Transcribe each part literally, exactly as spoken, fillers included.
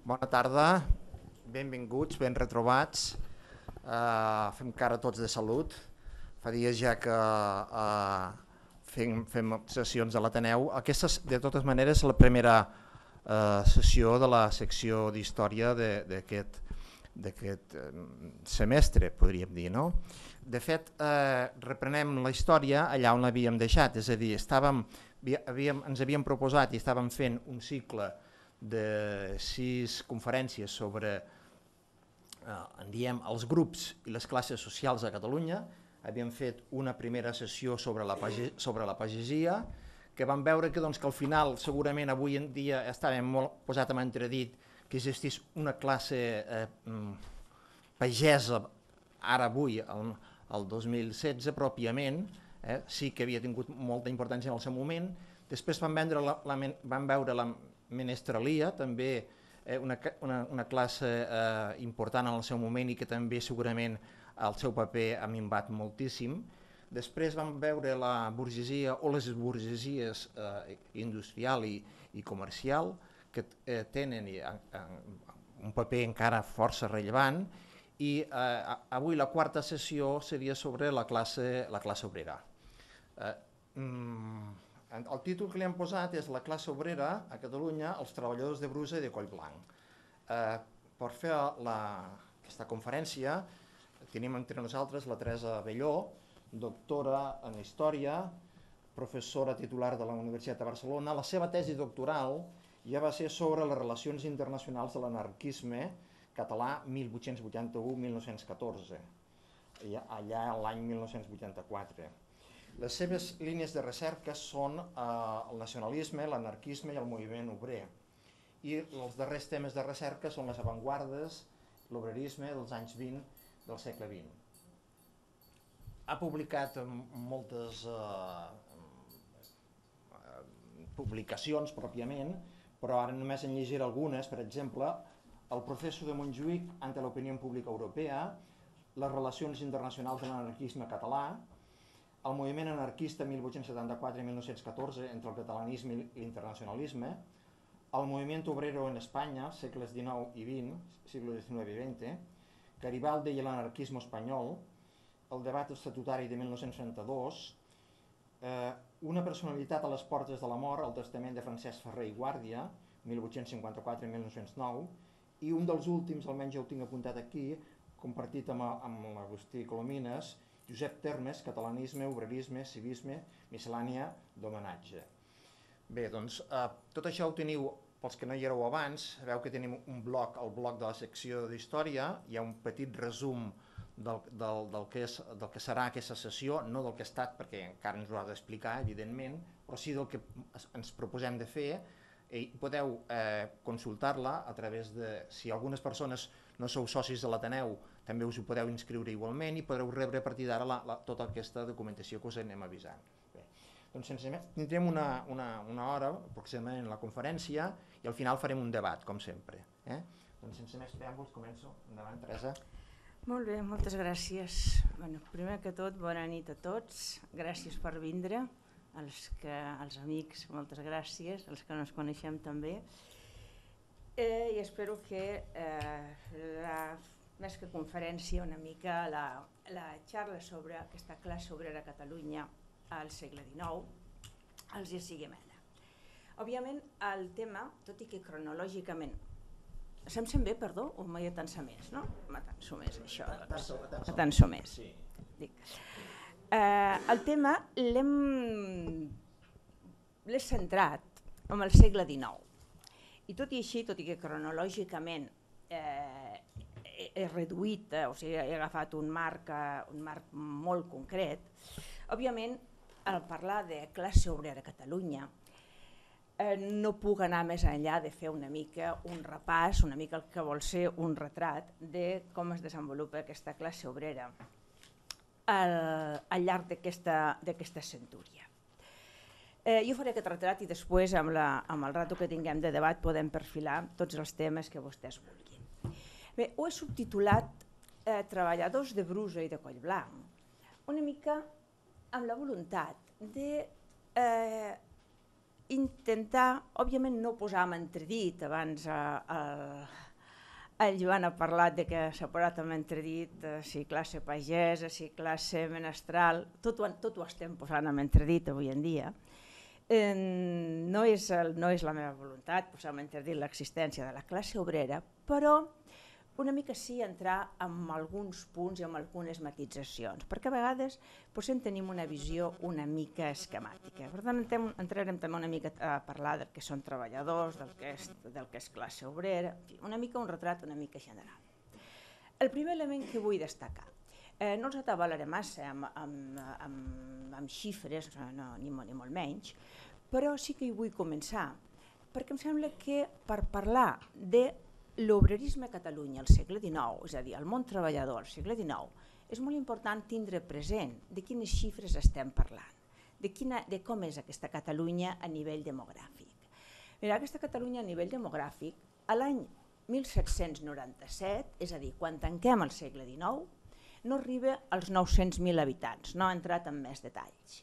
Bona tarda, benvinguts, ben retrobats. Uh, fem cara tots de salut. Fa dies ja que uh, fem, fem sessions a l'Ateneu. Aquesta és, de totes maneres, la primera uh, sessió de la secció d'història d'aquest d'aquest semestre, podríem dir, no? De fet, eh, reprenem la història allà on l'havíem deixat, és a dir, estàvem, havíem, ens havíem proposat i estàvem fent un cicle de sis conferències sobre eh, en diem, els grups i les classes socials a Catalunya. Havíem fet una primera sessió sobre la, page, sobre la pagesia, que vam veure que, doncs, que al final segurament avui en dia estàvem molt posat en entredit que existís una classe eh, pagesa ara avui, el, el dos mil setze pròpiament, eh, sí que havia tingut molta importància en el seu moment. Després van, la, la, van veure la menestralia, també eh, una, una, una classe eh, important en el seu moment i que també segurament el seu paper ha minvat moltíssim. Després vam veure la burgesia o les burgesies eh, industrial i, i comercial, que eh, tenen eh, un paper encara força rellevant, i eh, avui la quarta sessió seria sobre la classe, la classe obrera. Eh, mm, el títol que li hem posat és La classe obrera a Catalunya, els treballadors de Brusa i de Collblanc. Eh, per fer la, aquesta conferència tenim entre nosaltres la Teresa Belló, doctora en Història, professora titular de la Universitat de Barcelona. La seva tesi doctoral ja va ser sobre les relacions internacionals de l'anarquisme català mil vuit-cents vuitanta-u a mil nou-cents catorze, allà l'any mil nou-cents vuitanta-quatre. Les seves línies de recerca són eh, el nacionalisme, l'anarquisme i el moviment obrer. I els darrers temes de recerca són les avantguardes, l'obrerisme dels anys vint del segle vint. Ha publicat moltes eh, publicacions pròpiament, però ara només en llegiré algunes. Per exemple, El proceso de Montjuïc ante l'opinió pública europea, les relacions internacionals de l'anarquisme català, el moviment anarquista mil vuit-cents setanta-quatre a mil nou-cents catorze entre el catalanisme i l'internacionalisme, el moviment obrero en Espanya, segles dinou i vint, siglos diecinueve i veinte, Garibaldi i l'anarquisme espanyol, el debat estatutari de mil nou-cents trenta-dos, eh, una personalitat a les portes de la mort, el testament de Francesc Ferrer i Guàrdia, mil vuit-cents cinquanta-quatre a mil nou-cents nou, i un dels últims, almenys ja ho tinc apuntat aquí, compartit amb, amb l'Agustí Colomines, Josep Termes, catalanisme, obrerisme, civisme, miscel·lània d'homenatge. Bé, doncs, eh, tot això ho teniu, pels que no hi éreu abans, sabeu que tenim un bloc, el bloc de la secció d'història, hi ha un petit resum del, del, del, que és, del que serà aquesta sessió, no del que ha estat, perquè encara ens ho ha d'explicar, evidentment, però sí del que ens proposem de fer, i podeu eh, consultar-la a través de, si algunes persones no sou socis de l'Ateneu, també us ho podeu inscriure igualment i podreu rebre a partir d'ara tota aquesta documentació que us anem avisant. Bé, doncs sense més, tindrem una, una, una hora aproximadament la conferència i al final farem un debat, com sempre. Eh? Doncs sense més preàmbuls començo. Endavant, Teresa. Molt bé, moltes gràcies. Bueno, primer que tot, bona nit a tots. Gràcies per vindre. Els, que, els amics, moltes gràcies, els que no ens coneixem també, eh, i espero que eh, la, més que conferència una mica la, la xarra sobre aquesta classe obrera a Catalunya al segle dinou els hi sigui amena. Òbviament el tema, tot i que cronològicament se'm sent bé, perdó, o m'hi atansa més, no? M'atanso més, això. Atanso més. Dic. Eh, el tema l'hem centrat en el segle dinou i tot i així, tot i que cronològicament eh, he reduït, eh, o sigui, he agafat un marc, eh, un marc molt concret, òbviament al parlar de classe obrera a Catalunya eh, no puc anar més enllà de fer una mica un repàs, una mica el que vol ser un retrat de com es desenvolupa aquesta classe obrera Al, al llarg d'aquesta centúria. Eh, jo faré aquest retrat i després, amb, la, amb el rato que tinguem de debat, podem perfilar tots els temes que vostès vulguin. Bé, ho he subtitulat eh, Treballadors de Brusa i de Collblanc, una mica amb la voluntat de eh, intentar, òbviament no posar en entredit, abans el, el Joan ha parlat de que s'ha posat en entredit si classe pagesa, si classe menestral, tot ho, tot ho estem posant en entredit avui en dia. Eh, no, és el, no és la meva voluntat posar en entredit l'existència de la classe obrera, però una mica sí entrar en alguns punts i en algunes matitzacions, perquè a vegades potser tenim una visió una mica esquemàtica. Per tant, entrarem també una mica a parlar del que són treballadors, del que és, del que és classe obrera, una mica un retrat una mica general. El primer element que vull destacar, eh, no els atabalaré massa amb, amb, amb, amb xifres, no, ni, ni molt menys, però sí que hi vull començar, perquè em sembla que per parlar de l'obrerisme a Catalunya al segle dinou, és a dir, el món treballador al segle dinou, és molt important tindre present de quines xifres estem parlant, de, quina, de com és aquesta Catalunya a nivell demogràfic. Mira, aquesta Catalunya a nivell demogràfic, a l'any mil set-cents noranta-set, és a dir, quan tanquem el segle dinou, no arriba als nou-cents mil habitants, no ha entrat en més detalls.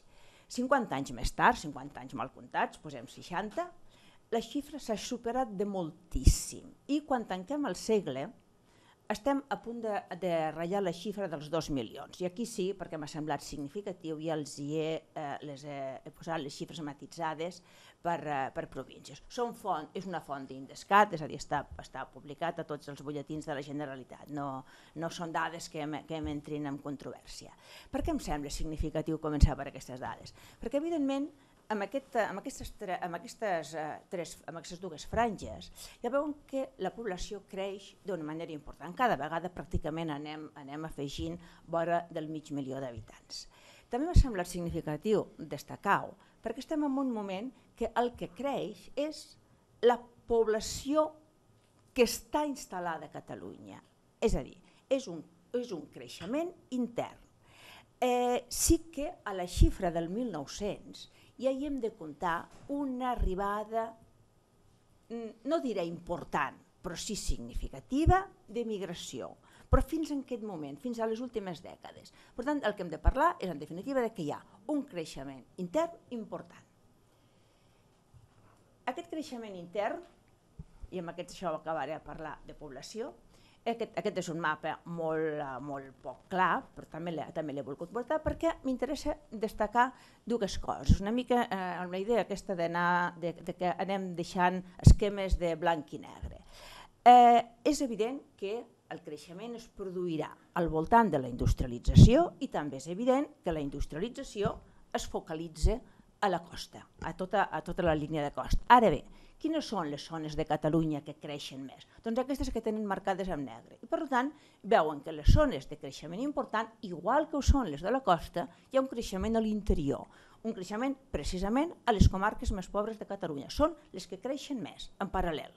cinquanta anys més tard, cinquanta anys mal comptats, posem seixanta, la xifra s'ha superat de moltíssim i quan tanquem el segle estem a punt de, de ratllar la xifra dels dos milions. I aquí sí, perquè m'ha semblat significatiu, ja els hi he, eh, les he, he posat les xifres matitzades per, eh, per províncies. Són font, és una font d'Indescat, és a dir, està, està publicat a tots els butlletins de la Generalitat, no, no són dades que, que m'entrin en controvèrsia. Per què em sembla significatiu començar per aquestes dades? Perquè, evidentment, Amb, aquest, amb, aquestes, amb, aquestes, uh, tres, amb aquestes dues franges ja veuen que la població creix d'una manera important. Cada vegada pràcticament anem, anem afegint vora del mig milió d'habitants. També m'ha semblat significatiu destacar-ho perquè estem en un moment que el que creix és la població que està instal·lada a Catalunya. És a dir, és un, és un creixement intern. Eh, sí que a la xifra del mil nou-cents ja hi hem de comptar una arribada, no diré important, però sí significativa, de migració. Però fins en aquest moment, fins a les últimes dècades. Per tant, el que hem de parlar és, en definitiva, que hi ha un creixement intern important. Aquest creixement intern, i amb aquest això acabaré a parlar de població, Aquest, aquest és un mapa molt, molt poc clar, però també l'he volgut portar perquè m'interessa destacar dues coses. Una mica eh, amb la idea aquesta d'anar, de, de que anem deixant esquemes de blanc i negre. Eh, és evident que el creixement es produirà al voltant de la industrialització i també és evident que la industrialització es focalitza a la costa, a tota, a tota la línia de costa. Ara bé, quines són les zones de Catalunya que creixen més? Doncs aquestes que tenen marcades en negre. I per tant, veuen que les zones de creixement important, igual que ho són les de la costa, hi ha un creixement a l'interior, un creixement precisament a les comarques més pobres de Catalunya. Són les que creixen més, en paral·lel.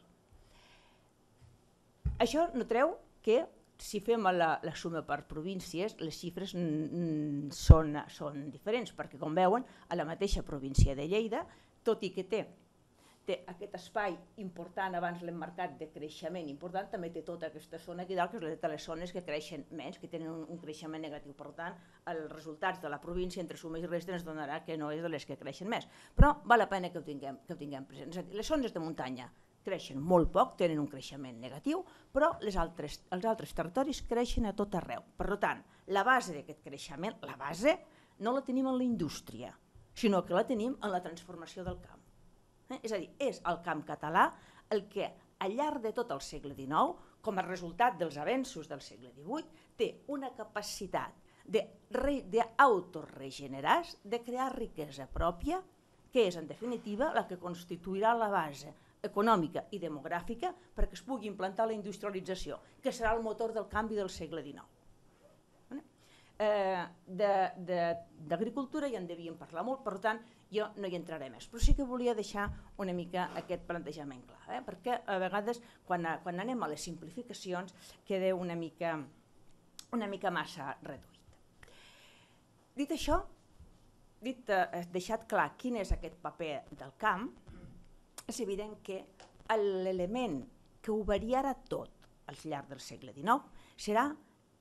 Això no treu que, si fem la, la suma per províncies, les xifres mm, són, són diferents, perquè com veuen, a la mateixa província de Lleida, tot i que té té aquest espai important, abans l'hem marcat de creixement important, també té tota aquesta zona aquí dalt, que és de les zones que creixen menys, que tenen un, un creixement negatiu. Per tant, els resultats de la província entre suma i resta ens donarà que no és de les que creixen més. Però val la pena que ho tinguem, que ho tinguem present. És a dir, les zones de muntanya creixen molt poc, tenen un creixement negatiu, però les altres, els altres territoris creixen a tot arreu. Per tant, la base d'aquest creixement, la base, no la tenim en la indústria, sinó que la tenim en la transformació del camp. És a dir, és el camp català el que al llarg de tot el segle dinou, com a resultat dels avenços del segle divuit, té una capacitat d'autoregenerar-se, de crear riquesa pròpia, que és en definitiva la que constituirà la base econòmica i demogràfica perquè es pugui implantar la industrialització, que serà el motor del canvi del segle dinou. Eh, d'agricultura ja en devíem parlar molt, per tant jo no hi entraré més, però sí que volia deixar una mica aquest plantejament clar, eh? Perquè a vegades quan, quan anem a les simplificacions queda una mica, una mica massa reduït. Dit això, dit, eh, deixat clar quin és aquest paper del camp, és evident que l'element que ho variarà tot al llarg del segle dinou serà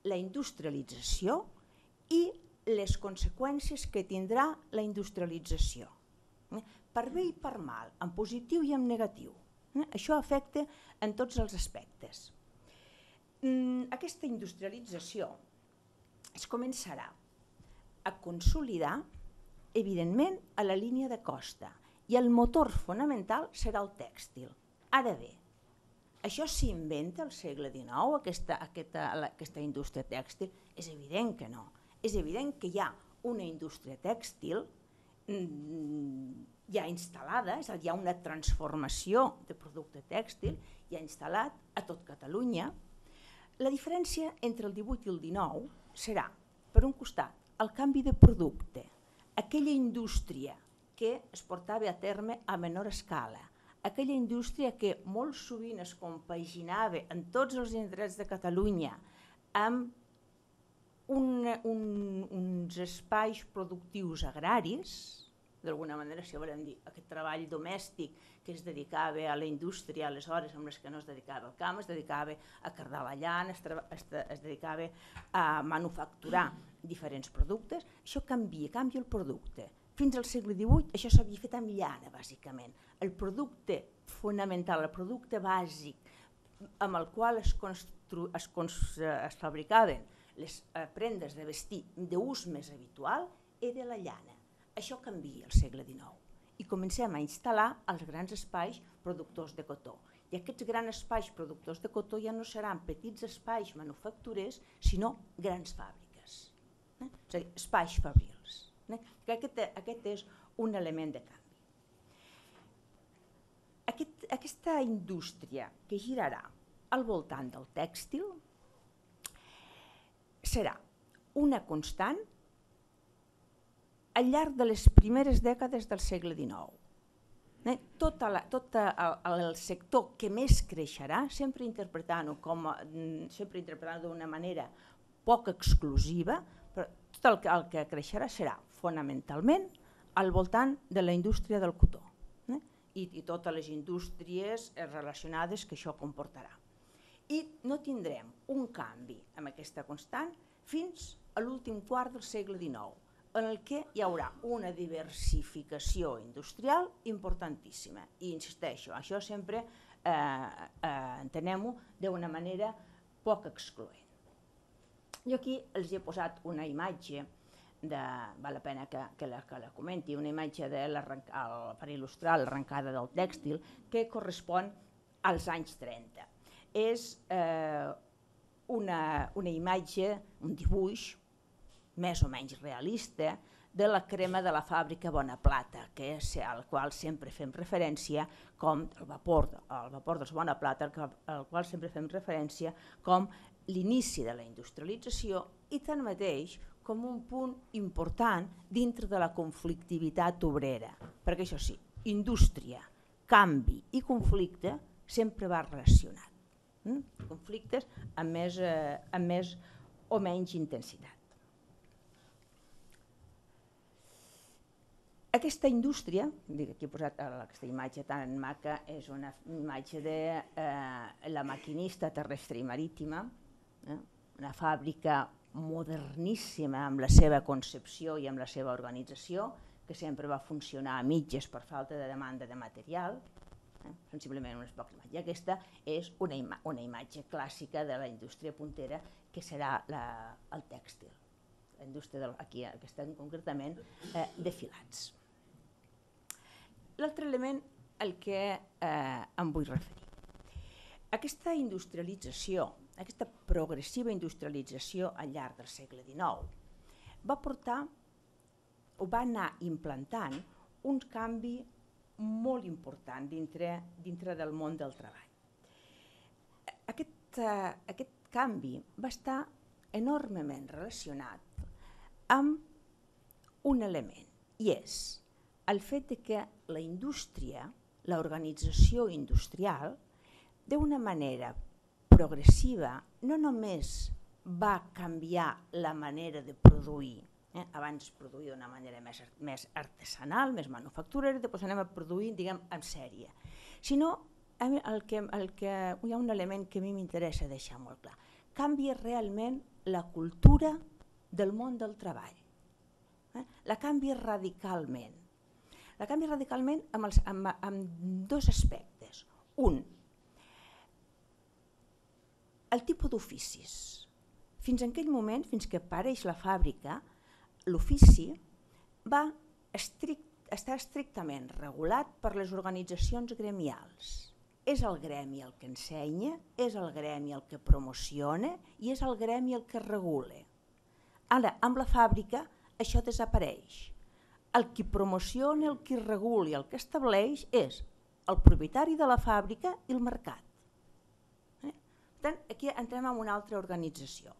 la industrialització i les conseqüències que tindrà la industrialització. per bé i per mal, en positiu i en negatiu. Eh? Això afecta en tots els aspectes. Mm, aquesta industrialització es començarà a consolidar, evidentment, a la línia de costa, i el motor fonamental serà el tèxtil. Ara bé, això s'inventa al segle dinou, aquesta, aquesta, aquesta indústria tèxtil? És evident que no. És evident que hi ha una indústria tèxtil ja instal·lada, és a dir, hi ha una transformació de producte tèxtil ja instal·lat a tot Catalunya. La diferència entre el divuit i el dinou serà, per un costat, el canvi de producte, aquella indústria que es portava a terme a menor escala, aquella indústria que molt sovint es compaginava en tots els indrets de Catalunya amb un, un, uns espais productius agraris, d'alguna manera, si volem dir, aquest treball domèstic que es dedicava a la indústria, aleshores amb les que no es dedicava al camp, es dedicava a cardar la llana, es, es, es dedicava a manufacturar diferents productes, això canvia, canvia el producte. Fins al segle divuit això s'havia fet amb llana, bàsicament. El producte fonamental, el producte bàsic amb el qual es, constru, es, es fabricaven les prendes de vestir d'ús més habitual era la llana. Això canvia al segle dinou i comencem a instal·lar els grans espais productors de cotó. I aquests grans espais productors de cotó ja no seran petits espais manufacturers, sinó grans fàbriques, eh? És a dir, espais fabrils. Eh? Aquest, aquest és un element de canvi. Aquest, aquesta indústria que girarà al voltant del tèxtil serà una constant al llarg de les primeres dècades del segle dinou. Eh? Tot, la, tot el, el sector que més creixerà, sempre interpretant-ho com sempre interpretant-ho d'una manera poc exclusiva, però tot el que, el que creixerà serà fonamentalment al voltant de la indústria del cotó, eh? I, i totes les indústries relacionades que això comportarà. I no tindrem un canvi amb aquesta constant fins a l'últim quart del segle dinou, en el que hi haurà una diversificació industrial importantíssima. I insisteixo, això sempre eh, eh, entenem-ho d'una manera poc excloent. Jo aquí els he posat una imatge, de, val la pena que, que, la, que la comenti, una imatge de el, per il·lustrar l'arrencada del tèxtil que correspon als anys trenta. És eh, una, una imatge, un dibuix, més o menys realista, de la crema de la fàbrica Bonaplata, que és al qual sempre fem referència com el vapor, el vapor dels Bonaplata, al qual sempre fem referència com l'inici de la industrialització i tanmateix com un punt important dintre de la conflictivitat obrera, perquè això sí, indústria, canvi i conflicte sempre va relacionat. Mm? Conflictes amb més, eh, amb més o menys intensitat. Aquesta indústria, aquí he posat aquesta imatge tan maca, és una imatge de eh, la maquinista terrestre i marítima, eh? Una fàbrica moderníssima amb la seva concepció i amb la seva organització, que sempre va funcionar a mitges per falta de demanda de material, eh? Sensiblement unes poques imatges. I aquesta és una, ima una imatge clàssica de la indústria puntera, que serà la, el tèxtil, la indústria del, aquí, que estan concretament eh, de filats. L'altre element al que eh, em vull referir. Aquesta industrialització, aquesta progressiva industrialització al llarg del segle dinou va portar o va anar implantant un canvi molt important dintre, dintre del món del treball. Aquest, eh, aquest canvi va estar enormement relacionat amb un element, i és el fet de que la indústria, l'organització industrial, d'una manera progressiva no només va canviar la manera de produir, eh? Abans produïa d'una manera més, més artesanal, més manufacturera, després anem a produir, diguem, en sèrie, sinó el que, el que, hi ha un element que a mi m'interessa deixar molt clar. Canvia realment la cultura del món del treball. Eh? La canvia radicalment. La canvia radicalment amb, els, amb, amb dos aspectes. Un, el tipus d'oficis. Fins en aquell moment, fins que apareix la fàbrica, l'ofici va estrict, estar estrictament regulat per les organitzacions gremials. És el gremi el que ensenya, és el gremi el que promociona i és el gremi el que regula. Ara, amb la fàbrica, això desapareix. El qui promociona, el qui regula i el que estableix és el propietari de la fàbrica i el mercat. Eh? Per tant, aquí entrem en una altra organització.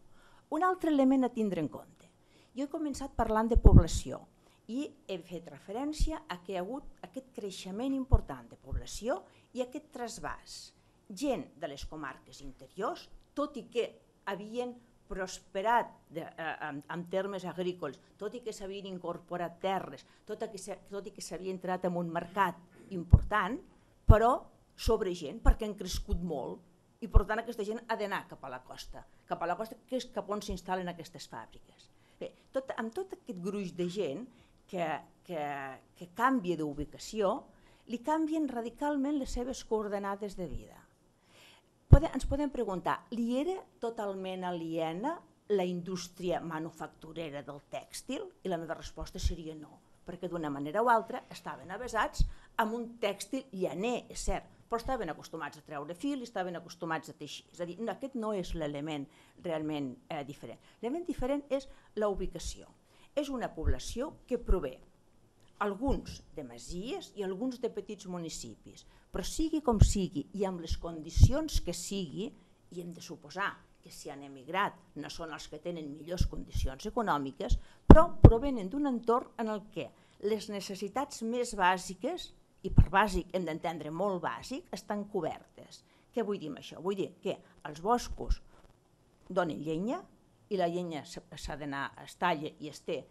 Un altre element a tindre en compte. Jo he començat parlant de població i he fet referència a que hi ha hagut aquest creixement important de població i aquest trasbàs. Gent de les comarques interiors, tot i que havien prosperat de, eh, en, en termes agrícoles, tot i que s'havien incorporat terres, tot i que, tot i que s'havia entrat en un mercat important, però sobre gent, perquè han crescut molt, i per tant aquesta gent ha d'anar cap a la costa, cap a la costa que és cap on s'instal·len aquestes fàbriques. Bé, tot, amb tot aquest gruix de gent que, que, que canvia d'ubicació, li canvien radicalment les seves coordenades de vida. Pode, ens podem preguntar, li era totalment aliena la indústria manufacturera del tèxtil? I la meva resposta seria no, perquè d'una manera o altra estaven avesats amb un tèxtil llaner, és cert, però estaven acostumats a treure fil i estaven acostumats a teixir. És a dir, aquest no és l'element realment eh, diferent. L'element diferent és la ubicació. És una població que prové alguns de masies i alguns de petits municipis, però sigui com sigui i amb les condicions que sigui, i hem de suposar que si han emigrat no són els que tenen millors condicions econòmiques, però provenen d'un entorn en el què les necessitats més bàsiques, i per bàsic hem d'entendre molt bàsic, estan cobertes. Què vull dir amb això? Vull dir que els boscos donen llenya i la llenya s'ha d'anar, es talla i es té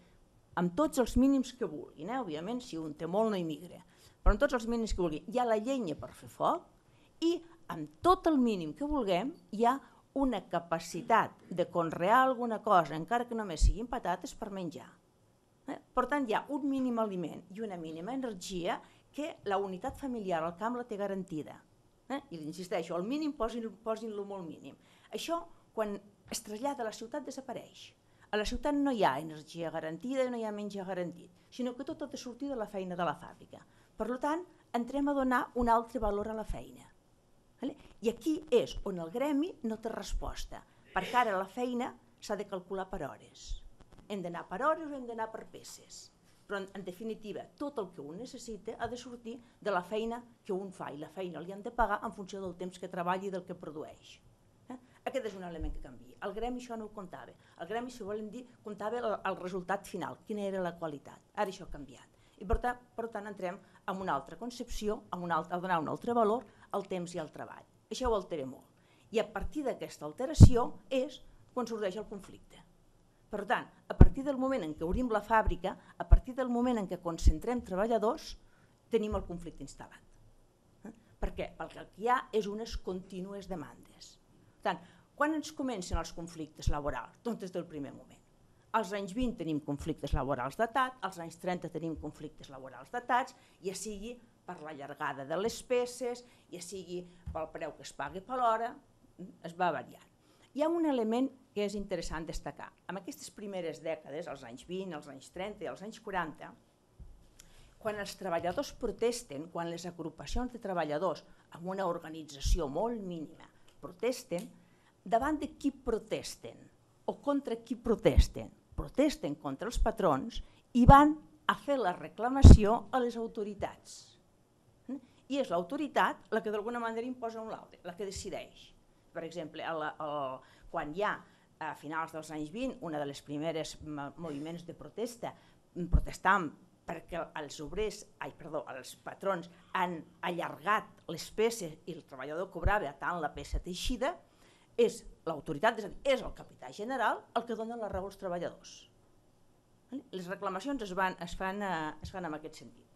amb tots els mínims que vulguin, eh? Òbviament si un té molt no hi migra, però amb tots els mínims que vulguin hi ha la llenya per fer foc i amb tot el mínim que vulguem hi ha una capacitat de conrear alguna cosa, encara que només siguin patates, per menjar. Eh? Per tant, hi ha un mínim aliment i una mínima energia que la unitat familiar al camp la té garantida. Eh? I insisteixo, al mínim posin-lo posin-lo molt mínim. Això, quan es trasllada a la ciutat, desapareix. A la ciutat no hi ha energia garantida i no hi ha menjar garantit, sinó que tot ha de sortir de la feina de la fàbrica. Per tant, entrem a donar un altre valor a la feina. I aquí és on el gremi no té resposta, perquè ara la feina s'ha de calcular per hores. Hem d'anar per hores o hem d'anar per peces. Però en definitiva, tot el que un necessita ha de sortir de la feina que un fa i la feina li han de pagar en funció del temps que treballi i del que produeix. Aquest és un element que canvia. El gremi això no ho comptava. El gremi, si volem dir, comptava el, el resultat final, quina era la qualitat. Ara això ha canviat. I per tant, per tant entrem en una altra concepció, en una altra, a donar un altre valor al temps i al treball. Això ho altera molt. I a partir d'aquesta alteració és quan sorgeix el conflicte. Per tant, a partir del moment en què obrim la fàbrica, a partir del moment en què concentrem treballadors, tenim el conflicte instal·lat. Eh? Per què? Perquè el que hi ha és unes contínues demandes. Per tant, quan ens comencen els conflictes laborals? Doncs des del primer moment. Als anys vint tenim conflictes laborals datats, als anys trenta tenim conflictes laborals datats, ja sigui per la llargada de les peces, ja sigui pel preu que es pagui per l'hora, es va variant. Hi ha un element que és interessant destacar. En aquestes primeres dècades, als anys vint, als anys trenta i als anys quaranta, quan els treballadors protesten, quan les agrupacions de treballadors amb una organització molt mínima protesten, davant de qui protesten o contra qui protesten? Protesten contra els patrons i van a fer la reclamació a les autoritats. I és l'autoritat la que d'alguna manera imposa un l'altre, la que decideix. Per exemple, el, el, quan hi ha a finals dels anys vint una de les primeres moviments de protesta, protestant perquè els obrers, ai, perdó, els patrons han allargat les peces i el treballador cobrava tant la peça teixida, és l'autoritat, és a dir, és el capità general el que dona la raó als treballadors. Les reclamacions es, van, es, fan, es fan en aquest sentit.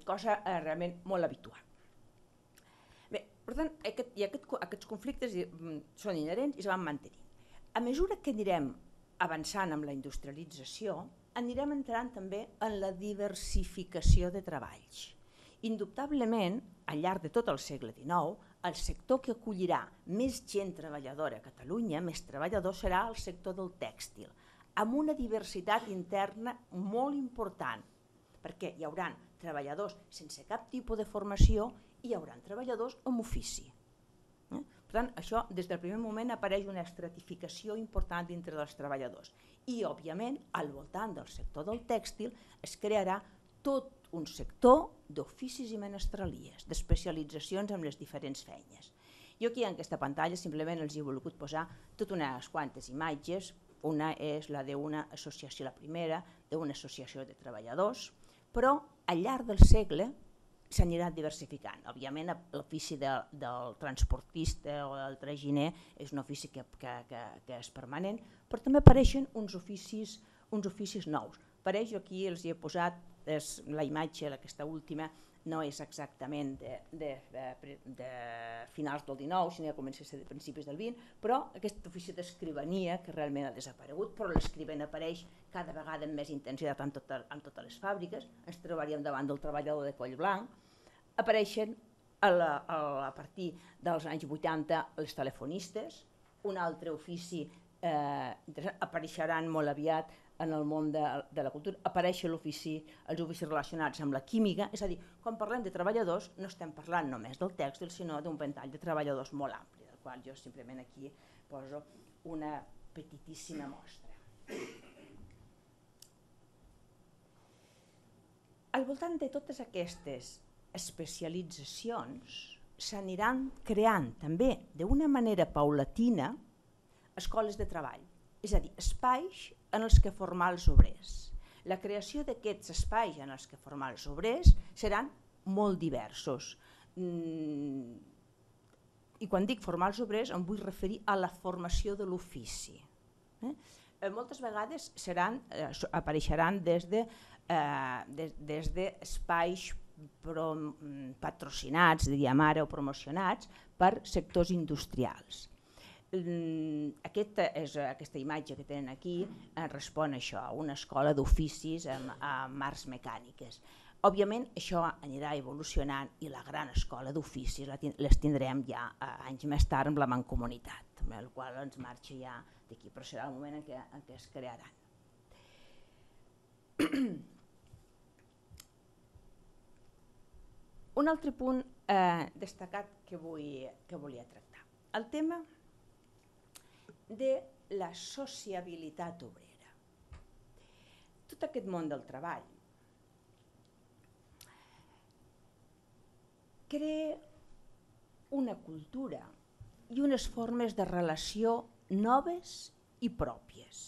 Cosa eh, realment molt habitual. Bé, per tant, aquest, i aquest, aquests conflictes són inherents i es van mantenir. A mesura que anirem avançant amb la industrialització, anirem entrant també en la diversificació de treballs. Indubtablement, al llarg de tot el segle dinou, el sector que acollirà més gent treballadora a Catalunya, més treballador, serà el sector del tèxtil, amb una diversitat interna molt important, perquè hi haurà treballadors sense cap tipus de formació i hi haurà treballadors amb ofici. Eh? Per tant, això des del primer moment apareix una estratificació important dintre dels treballadors i, òbviament, al voltant del sector del tèxtil es crearà tot un sector d'oficis i menestralies, d'especialitzacions en les diferents feines. Jo aquí en aquesta pantalla simplement els he volgut posar tot unes quantes imatges. Una és la d'una associació, la primera, d'una associació de treballadors, però al llarg del segle s'anirà diversificant. Òbviament l'ofici de, del transportista o del traginer és un ofici que, que, que, que és permanent, però també apareixen uns oficis, uns oficis nous. Per això aquí els hi he posat és, la imatge, aquesta última, no és exactament de, de, de, de finals del dinou, sinó que comença a ser de principis del vint, però aquest ofici d'escrivania, que realment ha desaparegut, però l'escrivent apareix cada vegada amb més intensitat en, tot, en totes les fàbriques, ens trobaríem davant del treballador de coll blanc, apareixen a, la, a partir dels anys vuitanta els telefonistes, un altre ofici eh, apareixeran molt aviat en el món de, de la cultura, apareixen l'ofici, els oficis relacionats amb la química, és a dir, quan parlem de treballadors no estem parlant només del tèxtil, sinó d'un ventall de treballadors molt ampli, del qual jo simplement aquí poso una petitíssima mostra. Al voltant de totes aquestes especialitzacions s'aniran creant també d'una manera paulatina escoles de treball, és a dir, espais en els que formar els obrers. La creació d'aquests espais en els que formar els obrers seran molt diversos. Mm, I quan dic formar els obrers em vull referir a la formació de l'ofici. Eh? Eh, moltes vegades seran, eh, apareixeran des de, eh, des, des d'espais patrocinats, diríem ara, o promocionats per sectors industrials. Aquesta, és, aquesta imatge que tenen aquí respon a això, a una escola d'oficis amb, amb arts mecàniques. Òbviament això anirà evolucionant i la gran escola d'oficis les tindrem ja anys més tard amb la mancomunitat, amb el qual ens marxa ja d'aquí, però serà el moment en què, en què es crearan. Un altre punt eh, destacat que, vull, que volia tractar, el tema de la sociabilitat obrera. Tot aquest món del treball crea una cultura i unes formes de relació noves i pròpies,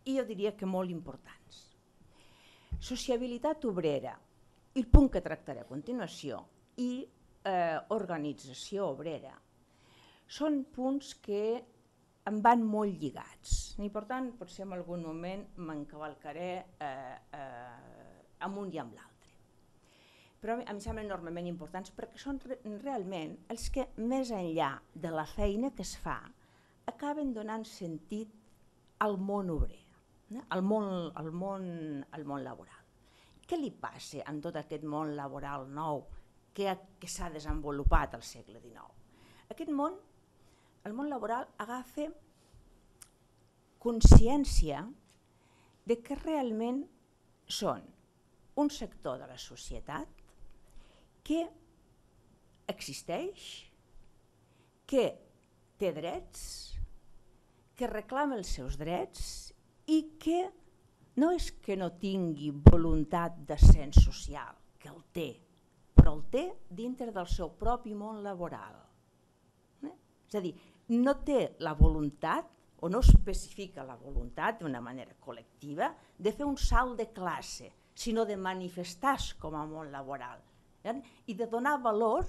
i jo diria que molt importants. Sociabilitat obrera, i el punt que tractaré a continuació, i eh, organització obrera, són punts que em van molt lligats i per tant potser en algun moment m'encavalcaré eh, eh, amb un i amb l'altre. Però em semblen enormement importants perquè són re realment els que més enllà de la feina que es fa acaben donant sentit al món obrer, eh? al, món, al, món, al món laboral. Què li passa en tot aquest món laboral nou que, que s'ha desenvolupat al segle dinou? Aquest món el món laboral agafa consciència de que realment són un sector de la societat que existeix, que té drets, que reclama els seus drets i que no és que no tingui voluntat d'ascens social, que el té, però el té dintre del seu propi món laboral. És a dir, no té la voluntat o no especifica la voluntat d'una manera col·lectiva de fer un salt de classe, sinó de manifestar-se com a món laboral eh? i de donar valor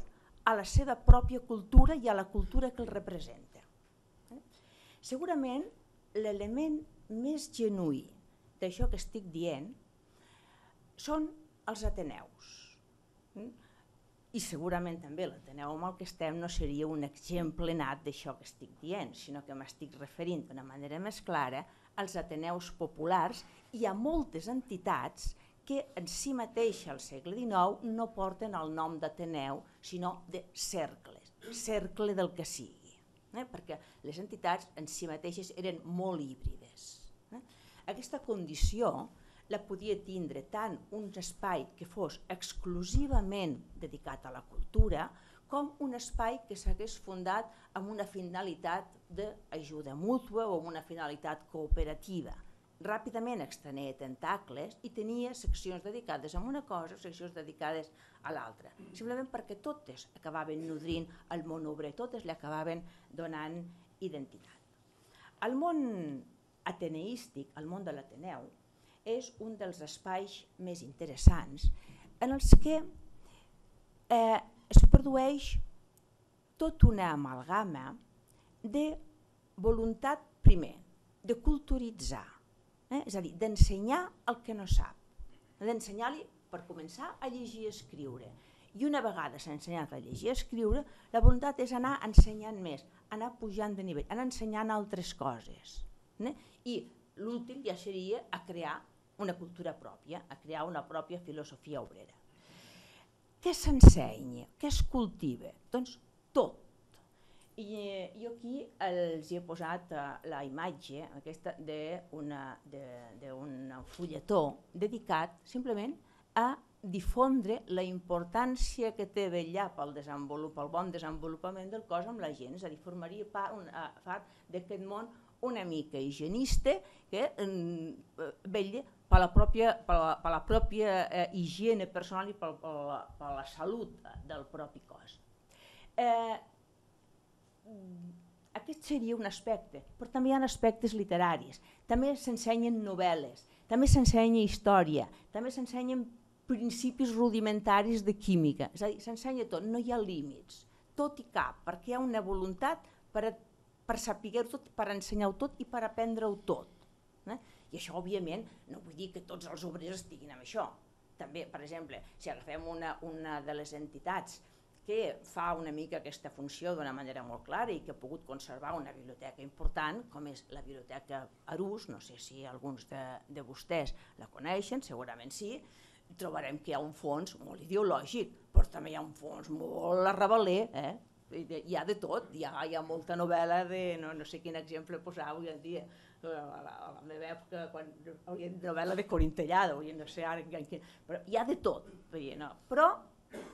a la seva pròpia cultura i a la cultura que el representa. Eh? Segurament l'element més genuí d'això que estic dient són els ateneus. Eh? I segurament també l'Ateneu amb el que estem no seria un exemple nat d'això que estic dient, sinó que m'estic referint d'una manera més clara als ateneus populars, hi ha moltes entitats que en si mateixa al segle dinou no porten el nom d'Ateneu, sinó de cercles, cercle del que sigui, eh? perquè les entitats en si mateixes eren molt híbrides. Eh? Aquesta condició la podia tindre tant un espai que fos exclusivament dedicat a la cultura, com un espai que s'hagués fundat amb una finalitat d'ajuda mútua o amb una finalitat cooperativa. Ràpidament extenia tentacles i tenia seccions dedicades a una cosa, seccions dedicades a l'altra, simplement perquè totes acabaven nodrint el món obrer, totes li acabaven donant identitat. El món ateneístic, el món de l'Ateneu, és un dels espais més interessants en els que eh, es produeix tota una amalgama de voluntat, primer, de culturitzar, eh? és a dir, d'ensenyar el que no sap, d'ensenyar-li, per començar, a llegir i escriure. I una vegada s'ha ensenyat a llegir i escriure, la voluntat és anar ensenyant més, anar pujant de nivell, anar ensenyant altres coses. Eh? I l'últim ja seria a crear una cultura pròpia, a crear una pròpia filosofia obrera. Què s'ensenya? Què es cultiva? Doncs tot. I jo aquí els he posat la imatge aquesta d'un fulletó dedicat simplement a difondre la importància que té vetllar pel bon desenvolupament del cos amb la gent, és a dir, formaria part d'aquest món una mica higienista que vetlla per la pròpia, per la pròpia eh, higiene personal i per, per, la, per la salut del propi cos. Eh, aquest seria un aspecte, però també hi ha aspectes literaris, també s'ensenyen novel·les, també s'ensenya història, també s'ensenyen principis rudimentaris de química, és a dir, s'ensenya tot, no hi ha límits, tot i cap, perquè hi ha una voluntat per, per saber-ho tot, per ensenyar-ho tot i per aprendre-ho tot. Eh? I això, òbviament, no vull dir que tots els obrers estiguin amb això. També, per exemple, si agafem una, una de les entitats que fa una mica aquesta funció d'una manera molt clara i que ha pogut conservar una biblioteca important, com és la Biblioteca Arús, no sé si alguns de, de vostès la coneixen, segurament sí, trobarem que hi ha un fons molt ideològic, però també hi ha un fons molt arrabaler, eh? Hi ha de tot, hi ha, hi ha molta novel·la de, no, no sé quin exemple posar avui en dia, a la, a la meva època, quan hi havia novel·la de Corintellada, no sé ara, però hi ha de tot, no? Però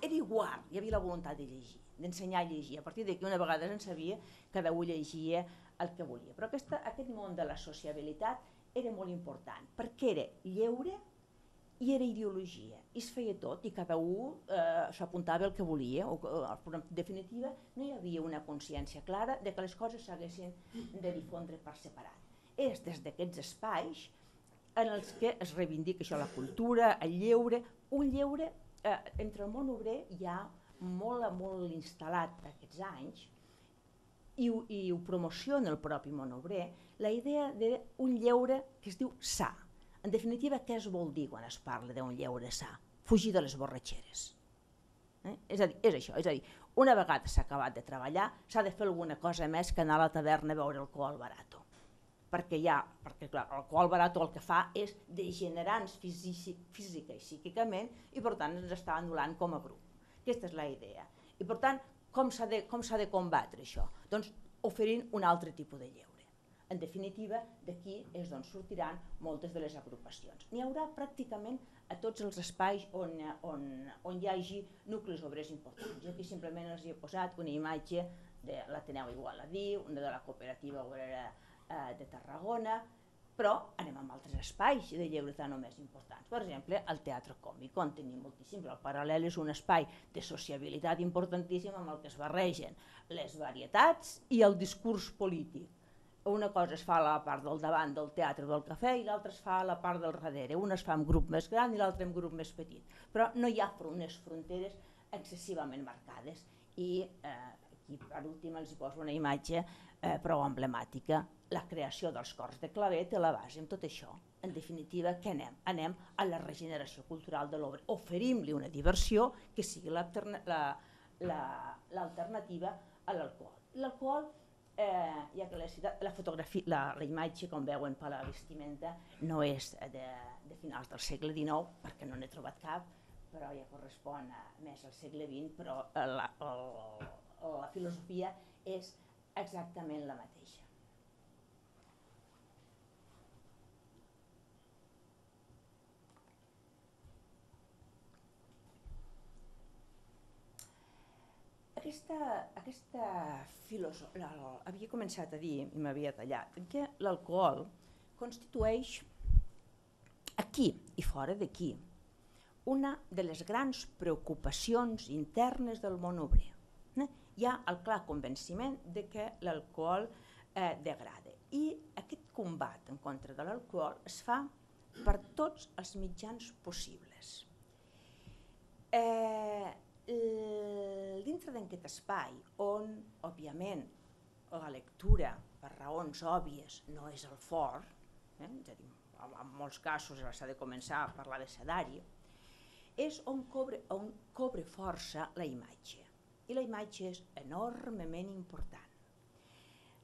era igual, hi havia la voluntat de llegir, d'ensenyar a llegir, a partir d'aquí una vegada se'n sabia, cada un llegia el que volia. Però aquesta, aquest món de la sociabilitat era molt important, perquè era lleure i era ideologia, i es feia tot, i cada un eh, s'apuntava el que volia, o, en definitiva no hi havia una consciència clara de que les coses s'haguessin de difondre per separat. És des d'aquests espais en els que es reivindica això, la cultura, el lleure, un lleure eh, entre el món obrer hi ha molt, molt instal·lat aquests anys, i, i ho promociona el propi món obrer, la idea d'un lleure que es diu sa. En definitiva, què es vol dir quan es parla d'un lleure sa? Fugir de les borratxeres. Eh? És a dir, és això, és a dir, una vegada s'ha acabat de treballar, s'ha de fer alguna cosa més que anar a la taverna a beure alcohol barato. Perquè hi ha, perquè clar, l'alcohol barato el que fa és degenerar-nos física i psíquicament i per tant ens està anul·lant com a grup. Aquesta és la idea. I per tant, com s'ha de, com s'ha de combatre això? Doncs oferint un altre tipus de lleure. En definitiva, d'aquí és d'on sortiran moltes de les agrupacions. N'hi haurà pràcticament a tots els espais on, on, on hi hagi nuclis obrers importants. Jo aquí simplement els he posat una imatge de l'Ateneu Igualadí, una de la Cooperativa Obrera eh, de Tarragona, però anem amb altres espais de lleure tan o més importants. Per exemple, el Teatre Còmic, on tenim moltíssims. El Paral·lel és un espai de sociabilitat importantíssim amb el que es barregen les varietats i el discurs polític. Una cosa es fa a la part del davant del teatre del cafè i l'altra es fa a la part del darrere. Una es fa en grup més gran i l'altra en grup més petit. Però no hi ha unes fronteres excessivament marcades. I eh, aquí per últim els hi poso una imatge eh, prou emblemàtica. La creació dels cors de claver té la base en tot això. En definitiva, què anem? Anem a la regeneració cultural de l'obra. Oferim-li una diversió que sigui l'alternativa a l'alcohol. L'alcohol Eh, ja que la, la fotografia, la, la imatge, com veuen per la vestimenta, no és de, de finals del segle dinou, perquè no n'he trobat cap, però ja correspon a, més al segle vint, però la, la, la filosofia és exactament la mateixa. Aquesta, aquesta filosofia, havia començat a dir, i m'havia tallat, que l'alcohol constitueix, aquí i fora d'aquí, una de les grans preocupacions internes del món obrer. Eh? Hi ha el clar convenciment de que l'alcohol eh, degrada. I aquest combat en contra de l'alcohol es fa per tots els mitjans possibles. Eh, dintre d'aquest espai on, òbviament, la lectura, per raons òbvies, no és el fort, eh? És a dir, en molts casos s'ha de començar a parlar de sedari, és on cobre, on cobre força la imatge. I la imatge és enormement important.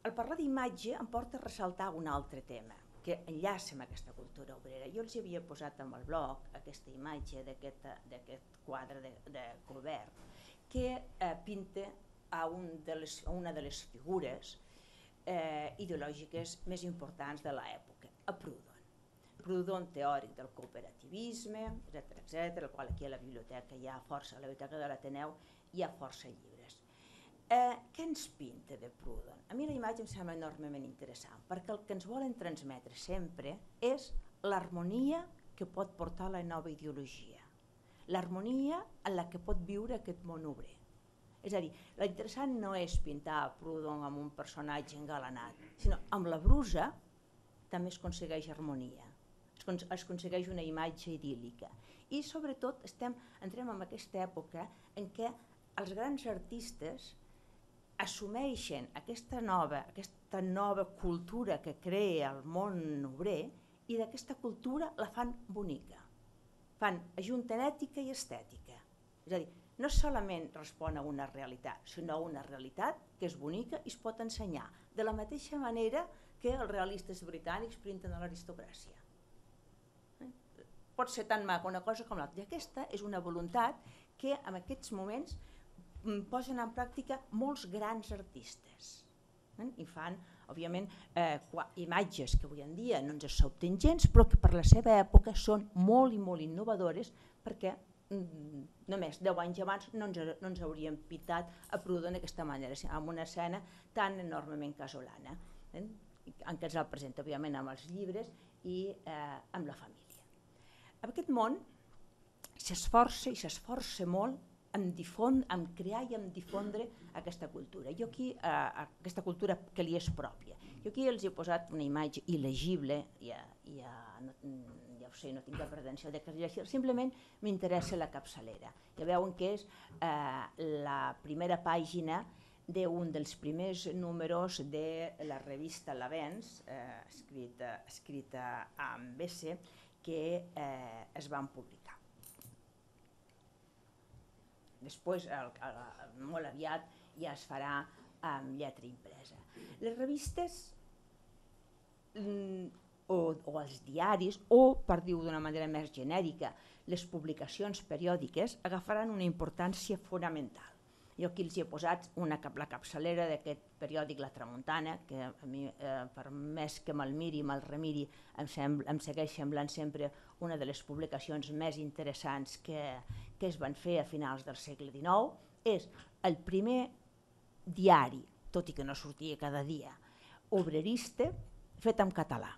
El parlar d'imatge em porta a ressaltar un altre tema, que enllaça amb aquesta cultura obrera. Jo els havia posat en el blog aquesta imatge d'aquest quadre de, de Colbert, que eh, pinta a, un de les, a una de les figures eh, ideològiques més importants de l'època, a Proudhon. Proudhon, teòric del cooperativisme, etcètera, etcètera, el qual aquí a la biblioteca hi ha força, a la biblioteca de l'Ateneu hi ha força llibres. Eh, què ens pinta de Proudhon? A mi la imatge em sembla enormement interessant, perquè el que ens volen transmetre sempre és l'harmonia que pot portar la nova ideologia, l'harmonia en la que pot viure aquest món obrer. És a dir, l'interessant no és pintar a Proudhon amb un personatge engalanat, sinó amb la brusa també es aconsegueix harmonia, es aconsegueix una imatge idíl·lica. I sobretot estem, entrem en aquesta època en què els grans artistes assumeixen aquesta nova, aquesta nova cultura que crea el món obrer i d'aquesta cultura la fan bonica. Fan, ajunten ètica i estètica. És a dir, no solament respon a una realitat, sinó a una realitat que és bonica i es pot ensenyar, de la mateixa manera que els realistes britànics pinten a l'aristocràcia. Pot ser tan maca una cosa com l'altra. I aquesta és una voluntat que en aquests moments posen en pràctica molts grans artistes. I fan, òbviament, eh, imatges que avui en dia no ens sobten gens, però que per la seva època són molt i molt innovadores, perquè mm, només deu anys abans no ens, no ens hauríem pintat a Proudhon d'aquesta manera, amb una escena tan enormement casolana, eh, en què ens el presenta, òbviament, amb els llibres i eh, amb la família. En aquest món s'esforça i s'esforça molt en, difon, en crear i en difondre aquesta cultura. Jo aquí, eh, aquesta cultura que li és pròpia. Jo aquí els he posat una imatge il·legible, ja, ja, no, ja ho sé, no tinc la pretensió de que es llegeixi, simplement m'interessa la capçalera. Ja veuen que és eh, la primera pàgina d'un dels primers números de la revista L'Avenç, eh, escrita, escrita amb S, que eh, es van publicar. Després, el, el, molt aviat, ja es farà amb lletra impresa. Les revistes mm, o, o els diaris, o, per dir-ho d'una manera més genèrica, les publicacions periòdiques agafaran una importància fonamental. Jo aquí els he posat una, la capçalera d'aquest periòdic La Tramuntana, que a mi, eh, per més que me'l miri i me'l remiri, em, sembla, em segueix semblant sempre una de les publicacions més interessants que, que es van fer a finals del segle dinou. És el primer diari, tot i que no sortia cada dia, obrerista, fet en català.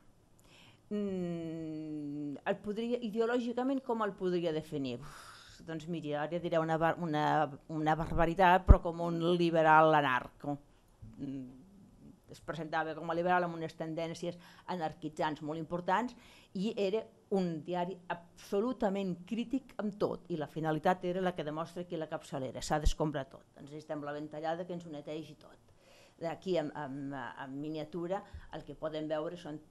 Mm, el podria, ideològicament, com el podria definir? Uf, doncs miri, ara diré una, una, una barbaritat, però com un liberal anarco. Es presentava com a liberal amb unes tendències anarquitzants molt importants i era un diari absolutament crític amb tot, i la finalitat era la que demostra aquí la capçalera, s'ha d'escombrar tot. Ens estem la ventallada que ens ho netegi tot. Aquí en, en, en miniatura el que podem veure són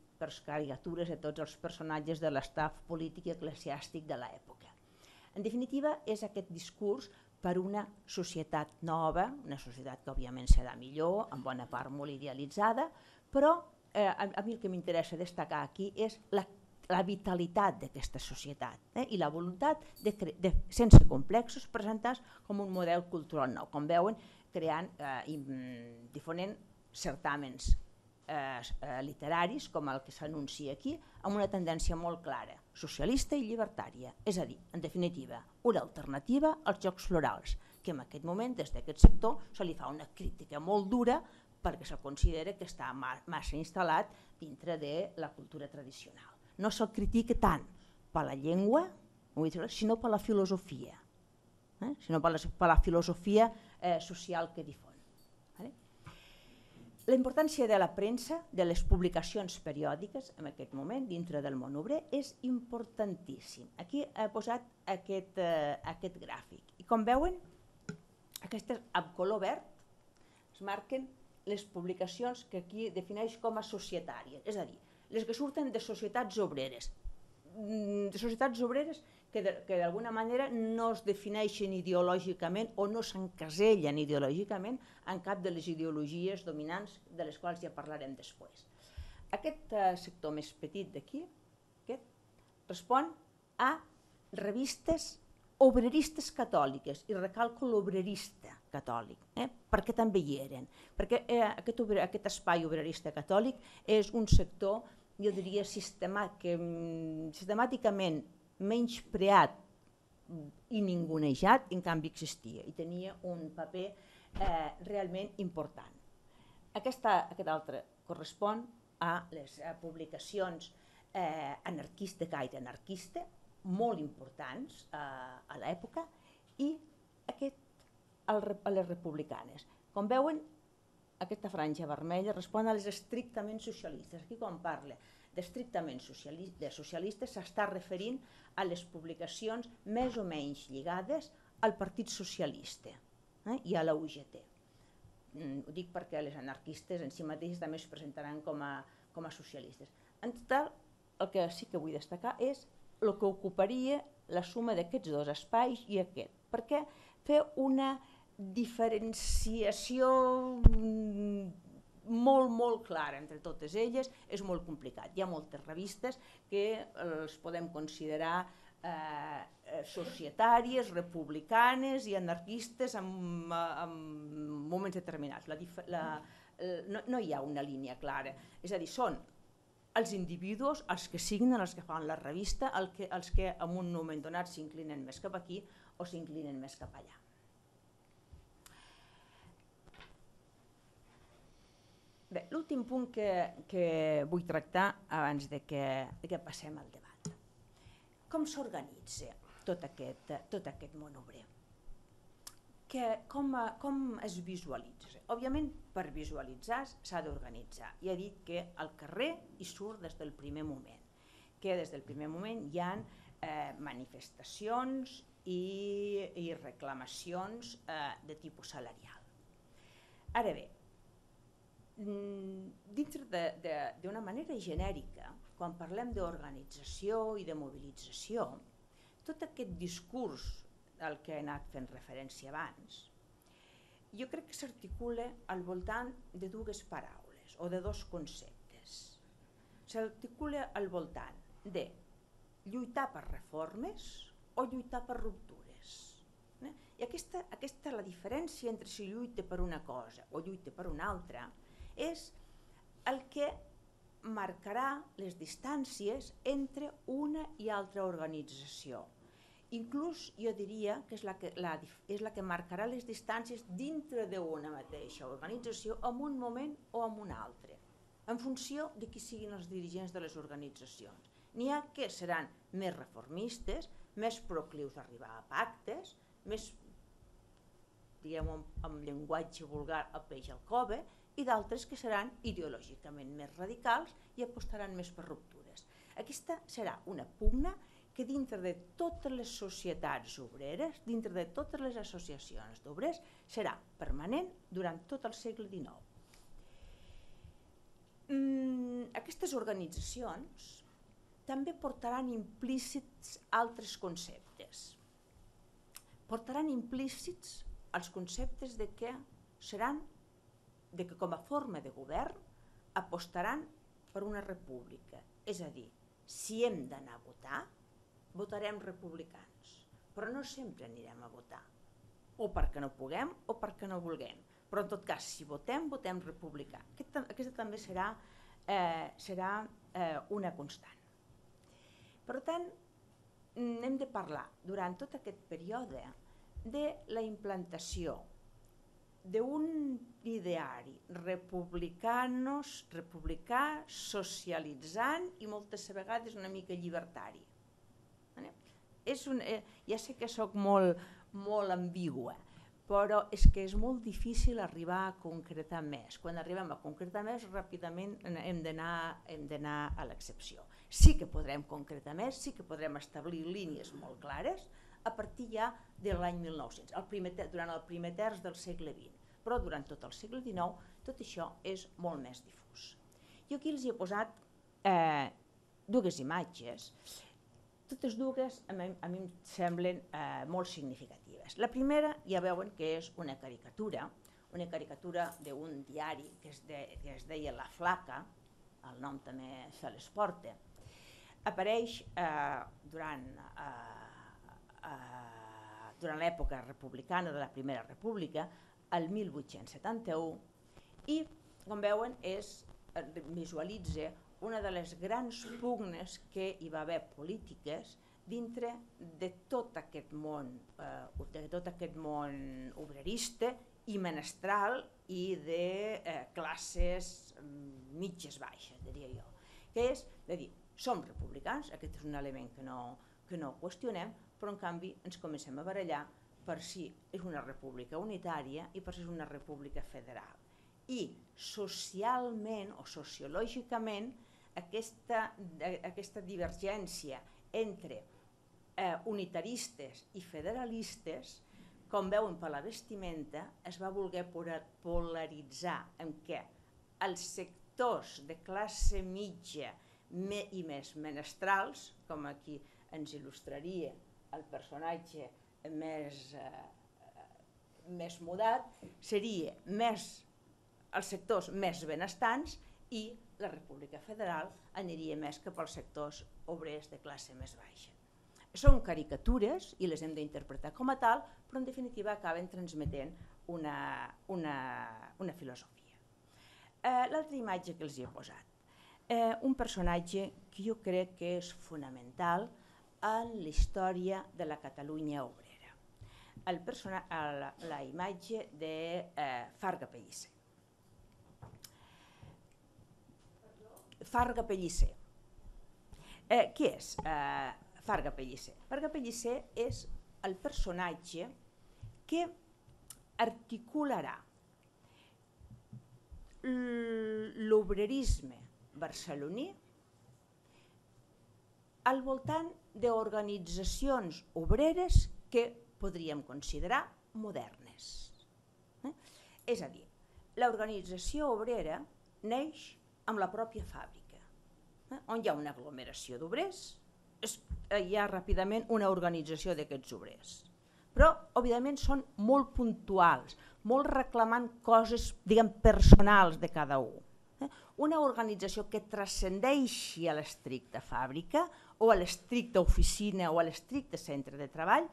caricatures de tots els personatges de l'estaf polític i eclesiàstic de l'època. En definitiva, és aquest discurs per una societat nova, una societat que òbviament serà millor, en bona part molt idealitzada, però eh, a, a mi el que m'interessa destacar aquí és la, la vitalitat d'aquesta societat eh, i la voluntat, de, de, sense complexos, presentar com un model cultural nou, com veuen, creant, eh, i, difonent certàmens eh, eh, literaris, com el que s'anuncia aquí, amb una tendència molt clara, socialista i llibertària, és a dir, en definitiva, una alternativa als Jocs Florals, que en aquest moment, des d'aquest sector, se li fa una crítica molt dura perquè se considera que està massa instal·lat dintre de la cultura tradicional. No se'l critica tant per la llengua, sinó per la filosofia, eh? sinó per la, per la filosofia eh, social que difon. Vale? La importància de la premsa, de les publicacions periòdiques en aquest moment dintre del món obrer és importantíssim. Aquí he posat aquest, eh, aquest gràfic i com veuen, aquestes amb color verd es marquen les publicacions que aquí defineix com a societàries, és a dir, les que surten de societats obreres, de societats obreres que d'alguna manera no es defineixen ideològicament o no s'encasellen ideològicament en cap de les ideologies dominants de les quals ja parlarem després. Aquest eh, sector més petit d'aquí respon a revistes obreristes catòliques, i recalco l'obrerista catòlic, eh? perquè també hi eren, perquè eh, aquest, obre, aquest espai obrerista catòlic és un sector, jo diria, sistemà, que, sistemàticament menyspreat i ningunejat, en canvi existia i tenia un paper eh, realment important. Aquesta, aquest altre correspon a les a publicacions eh, anarquista, gaire anarquista, molt importants eh, a l'època, i aquest a les republicanes. Com veuen, aquesta franja vermella respon a les estrictament socialistes. Aquí quan parla d'estrictament socialistes s'està referint a les publicacions més o menys lligades al Partit Socialista eh, i a la U G T. Mm, ho dic perquè les anarquistes en si mateixes també es presentaran com a, com a socialistes. En total, el que sí que vull destacar és el que ocuparia la suma d'aquests dos espais i aquest, perquè fer una diferenciació molt, molt clara entre totes elles és molt complicat. Hi ha moltes revistes que els podem considerar eh, societàries, republicanes i anarquistes en, en moments determinats. La, la, no, no hi ha una línia clara, és a dir, són els individus, els que signen, els que fan la revista, el que, els que en un moment donat s'inclinen més cap aquí o s'inclinen més cap allà. Bé, l'últim punt que, que vull tractar abans de que, de que passem al debat. Com s'organitza tot aquest, tot aquest món obrer? Que, com, com es visualitza? Òbviament, per visualitzar s'ha d'organitzar. Ja he dit que al carrer hi surt des del primer moment, que des del primer moment hi ha eh, manifestacions i, i reclamacions eh, de tipus salarial. Ara bé, dintre d'una manera genèrica, quan parlem d'organització i de mobilització, tot aquest discurs al que he anat fent referència abans, jo crec que s'articula al voltant de dues paraules o de dos conceptes. S'articula al voltant de lluitar per reformes o lluitar per ruptures. I aquesta, aquesta la diferència entre si lluita per una cosa o lluita per una altra és el que marcarà les distàncies entre una i altra organització. Inclús jo diria que és la que, la, és la que marcarà les distàncies dintre d'una mateixa organització en un moment o en un altre, en funció de qui siguin els dirigents de les organitzacions. N'hi ha que seran més reformistes, més proclius d'arribar a pactes, més, diguem-ho amb llenguatge vulgar, a peix al cove, i d'altres que seran ideològicament més radicals i apostaran més per ruptures. Aquesta serà una pugna que dintre de totes les societats obreres, dintre de totes les associacions d'obrers, serà permanent durant tot el segle dinou. Mm, aquestes organitzacions també portaran implícits altres conceptes. portaran implícits els conceptes de que seran, de que com a forma de govern apostaran per una república. És a dir, si hem d'anar a votar, votarem republicans, però no sempre anirem a votar, o perquè no puguem o perquè no vulguem. Però en tot cas, si votem, votem republicà. Aquesta, aquesta també serà, eh, serà eh, una constant. Per tant, hem de parlar durant tot aquest període de la implantació d'un ideari republicanos, republicà, socialitzant i moltes vegades una mica llibertari. És un, eh, ja sé que sóc molt, molt ambigua, però és que és molt difícil arribar a concretar més. Quan arribem a concretar més, ràpidament hem d'anar hem d'anar a l'excepció. Sí que podrem concretar més, sí que podrem establir línies molt clares a partir ja de l'any mil nou-cents, el primer, durant el primer terç del segle vint. Però durant tot el segle dinou tot això és molt més difús. Jo aquí els hi he posat eh, dues imatges. Totes dues a mi, a mi em semblen eh, molt significatives. La primera ja veuen que és una caricatura, una caricatura d'un diari que es, de, que es deia La Flaca, el nom també se les porta. Apareix eh, durant, eh, eh, durant l'època republicana de la Primera República, el mil vuit-cents setanta-u, i, com veuen, és, visualitza una de les grans pugnes que hi va haver polítiques dintre de tot aquest món, eh, de tot aquest món obrerista i menestral i de eh, classes mitges baixes, diria jo. Que és, de dir, som republicans, aquest és un element que no, que no qüestionem, però en canvi ens comencem a barallar per si és una república unitària i per si és una república federal. I socialment o sociològicament aquesta, aquesta divergència entre eh, unitaristes i federalistes, com veuen per la vestimenta, es va voler polaritzar en què els sectors de classe mitja i més menestrals, com aquí ens il·lustraria el personatge més, eh, més mudat, seria més els sectors més benestants i la República Federal aniria més cap als sectors obrers de classe més baixa. Són caricatures i les hem d'interpretar com a tal, però en definitiva acaben transmetent una, una, una filosofia. Eh, L'altra imatge que els hi he posat, eh, un personatge que jo crec que és fonamental en la història de la Catalunya obrera. El persona, la, la imatge de eh, Farga Pellicer. Farga Pellicer. Eh, qui és eh, Farga Pellicer? Farga Pellicer és el personatge que articularà l'obrerisme barceloní al voltant d'organitzacions obreres que podríem considerar modernes. Eh? És a dir, l'organització obrera neix amb la pròpia fàbrica, eh? on hi ha una aglomeració d'obrers, hi ha ràpidament una organització d'aquests obrers. Però, òbviament, són molt puntuals, molt reclamant coses, diguem, personals de cada un. Eh? Una organització que transcendeixi a l'estricta fàbrica o a l'estricta oficina o a l'estricte centre de treball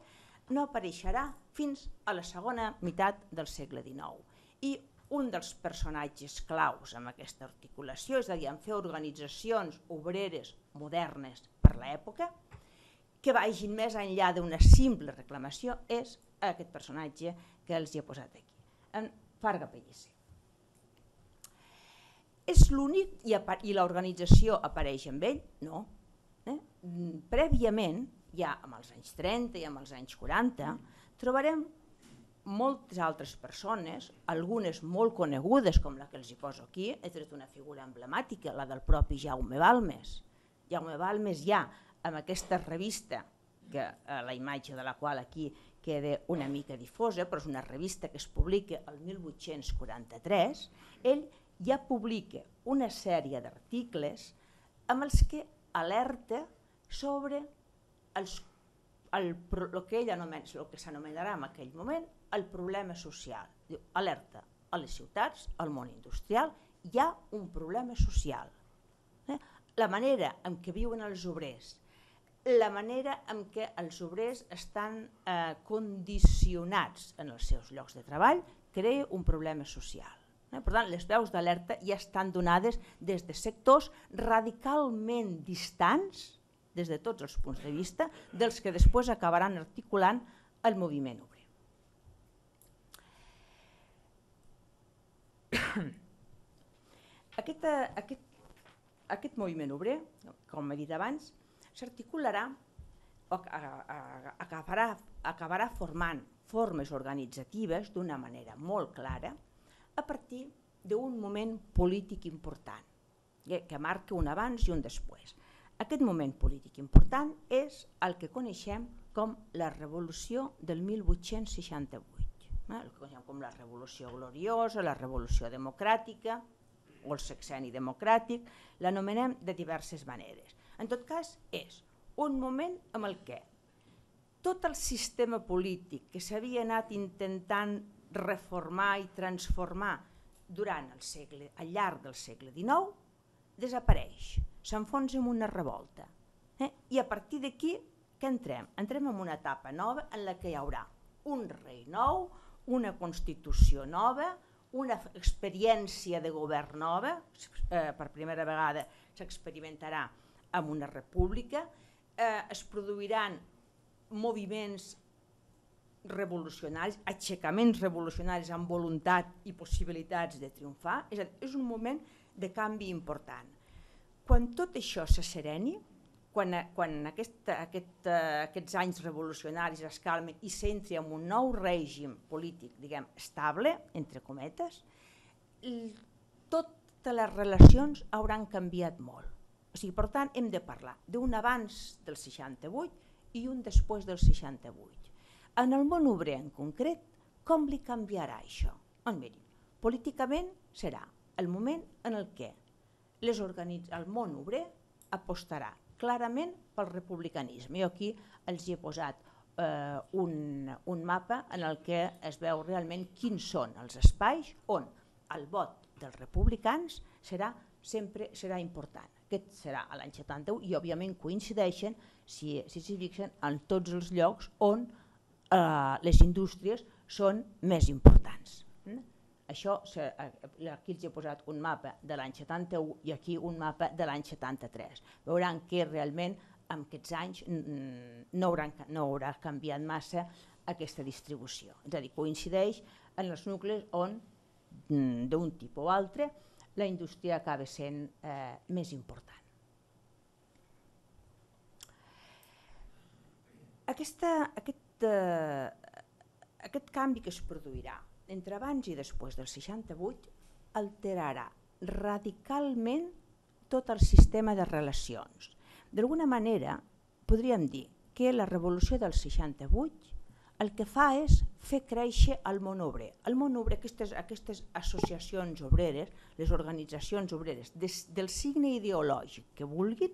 no apareixerà fins a la segona meitat del segle dinou. I un dels personatges claus en aquesta articulació, és a dir, en fer organitzacions obreres modernes per l'època, que vagin més enllà d'una simple reclamació, és aquest personatge que els hi he posat aquí, en Farga Pellicer. És l'únic i, i l'organització apareix amb ell? No. Eh? Prèviament, ja amb els anys trenta i amb els anys quaranta, trobarem moltes altres persones, algunes molt conegudes, com la que els hi poso aquí, he tret una figura emblemàtica, la del propi Jaume Balmes. Jaume Balmes ja, amb aquesta revista, que, eh, la imatge de la qual aquí queda una mica difosa, però és una revista que es publica el mil vuit-cents quaranta-tres, ell ja publica una sèrie d'articles amb els que alerta sobre els, el, el que ell anomena, el que s'anomenarà en aquell moment el problema social. Diu, alerta, a les ciutats, al món industrial, hi ha un problema social. Eh? La manera en què viuen els obrers, la manera en què els obrers estan eh, condicionats en els seus llocs de treball crea un problema social. Eh? Per tant, les veus d'alerta ja estan donades des de sectors radicalment distants, des de tots els punts de vista, dels que després acabaran articulant el moviment obrer. Aquest, aquest, aquest moviment obrer, com he dit abans, s'articularà o acabarà, acabarà formant formes organitzatives d'una manera molt clara a partir d'un moment polític important, que marca un abans i un després. Aquest moment polític important és el que coneixem com la Revolució del mil vuit-cents seixanta-vuit, el que coneixem com la Revolució Gloriosa, la Revolució Democràtica o el Sexenni Democràtic, l'anomenem de diverses maneres. En tot cas, és un moment en el què tot el sistema polític que s'havia anat intentant reformar i transformar durant el segle, al llarg del segle dinou, desapareix, s'enfonsa en una revolta. Eh? I a partir d'aquí, què entrem? Entrem en una etapa nova en la que hi haurà un rei nou, una constitució nova, una experiència de govern nova, eh, per primera vegada s'experimentarà amb una república, eh, es produiran moviments revolucionaris, aixecaments revolucionaris amb voluntat i possibilitats de triomfar, és a dir, és un moment de canvi important. Quan tot això s'assereni, quan, quan aquest, aquest, aquests anys revolucionaris es calmen i s'entri en un nou règim polític, diguem, estable, entre cometes, totes les relacions hauran canviat molt. O sigui, per tant, hem de parlar d'un abans del seixanta-vuit i un després del seixanta-vuit. En el món obrer en concret, com li canviarà això? Doncs miri, políticament serà el moment en el què les organitz... el món obrer apostarà clarament pel republicanisme. Jo aquí els hi he posat eh, un, un mapa en el que es veu realment quins són els espais on el vot dels republicans serà sempre serà important. Aquest serà a l'any setanta-u i òbviament coincideixen, si s'hi si fixen, en tots els llocs on eh, les indústries són més importants. Mm? Això, aquí els he posat un mapa de l'any setanta-u i aquí un mapa de l'any setanta-tres. Veuran que realment en aquests anys no haurà, no haurà canviat massa aquesta distribució. És a dir, coincideix en els nuclis on, d'un tipus o altre, la indústria acaba sent eh, més important. Aquesta, aquest, eh, aquest canvi que es produirà entre abans i després del seixanta-vuit alterarà radicalment tot el sistema de relacions. D'alguna manera, podríem dir que la revolució del seixanta-vuit el que fa és fer créixer el món obrer. El món obrer, aquestes, aquestes associacions obreres, les organitzacions obreres, des, del signe ideològic que vulguin,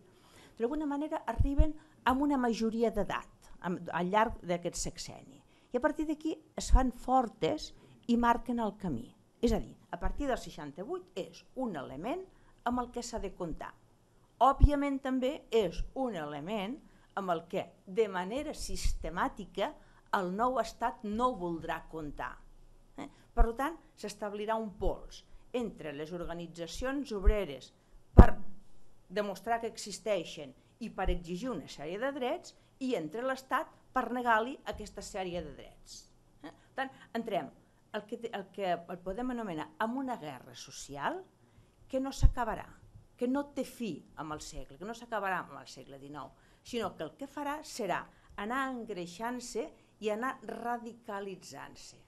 d'alguna manera arriben amb una majoria d'edat al llarg d'aquest sexenni. I a partir d'aquí es fan fortes i marquen el camí. És a dir, a partir del seixanta-vuit és un element amb el que s'ha de comptar. Òbviament també és un element amb el que de manera sistemàtica el nou estat no voldrà comptar. Eh? Per tant, s'establirà un pols entre les organitzacions obreres per demostrar que existeixen i per exigir una sèrie de drets i entre l'estat per negar-li aquesta sèrie de drets. Eh? Per tant, entrem el que, el que el podem anomenar amb una guerra social que no s'acabarà, que no té fi amb el segle, que no s'acabarà amb el segle dinou, sinó que el que farà serà anar engreixant-se i anar radicalitzant-se.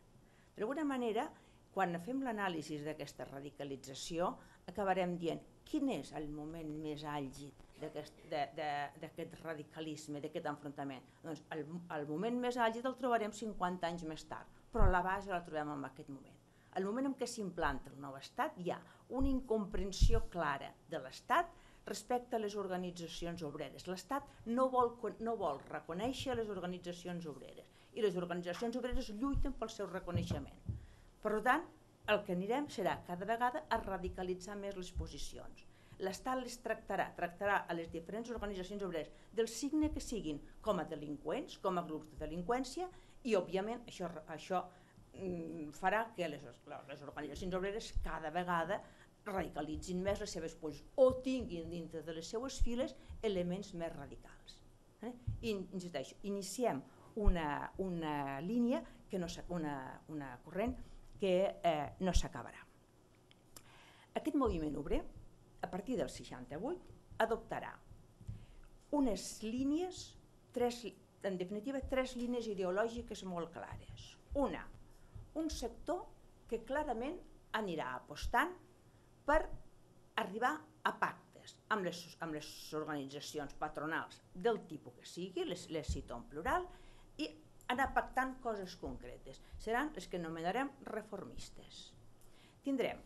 D'alguna manera, quan fem l'anàlisi d'aquesta radicalització, acabarem dient quin és el moment més àlgid d'aquest radicalisme, d'aquest enfrontament. Doncs el, el moment més àlgid el trobarem cinquanta anys més tard, però la base la trobem en aquest moment. El moment en què s'implanta el nou estat hi ha una incomprensió clara de l'estat respecte a les organitzacions obreres. L'Estat no vol, no vol reconèixer les organitzacions obreres i les organitzacions obreres lluiten pel seu reconeixement. Per tant, el que anirem serà cada vegada a radicalitzar més les posicions. L'Estat les tractarà, tractarà a les diferents organitzacions obreres del signe que siguin com a delinqüents, com a grups de delinqüència, i òbviament això, això mm, farà que les, les organitzacions obreres cada vegada radicalitzin més les seves posicions o tinguin dintre de les seues files elements més radicals. Eh? I, insisteixo, iniciem una, una línia, que no, una, una corrent que eh, no s'acabarà. Aquest moviment obrer, a partir del seixanta-vuit, adoptarà unes línies, tres, en definitiva, tres línies ideològiques molt clares. Una, un sector que clarament anirà apostant per arribar a pactes amb les, amb les organitzacions patronals del tipus que sigui, les, les cito en plural, i anar pactant coses concretes. Seran les que anomenarem reformistes. Tindrem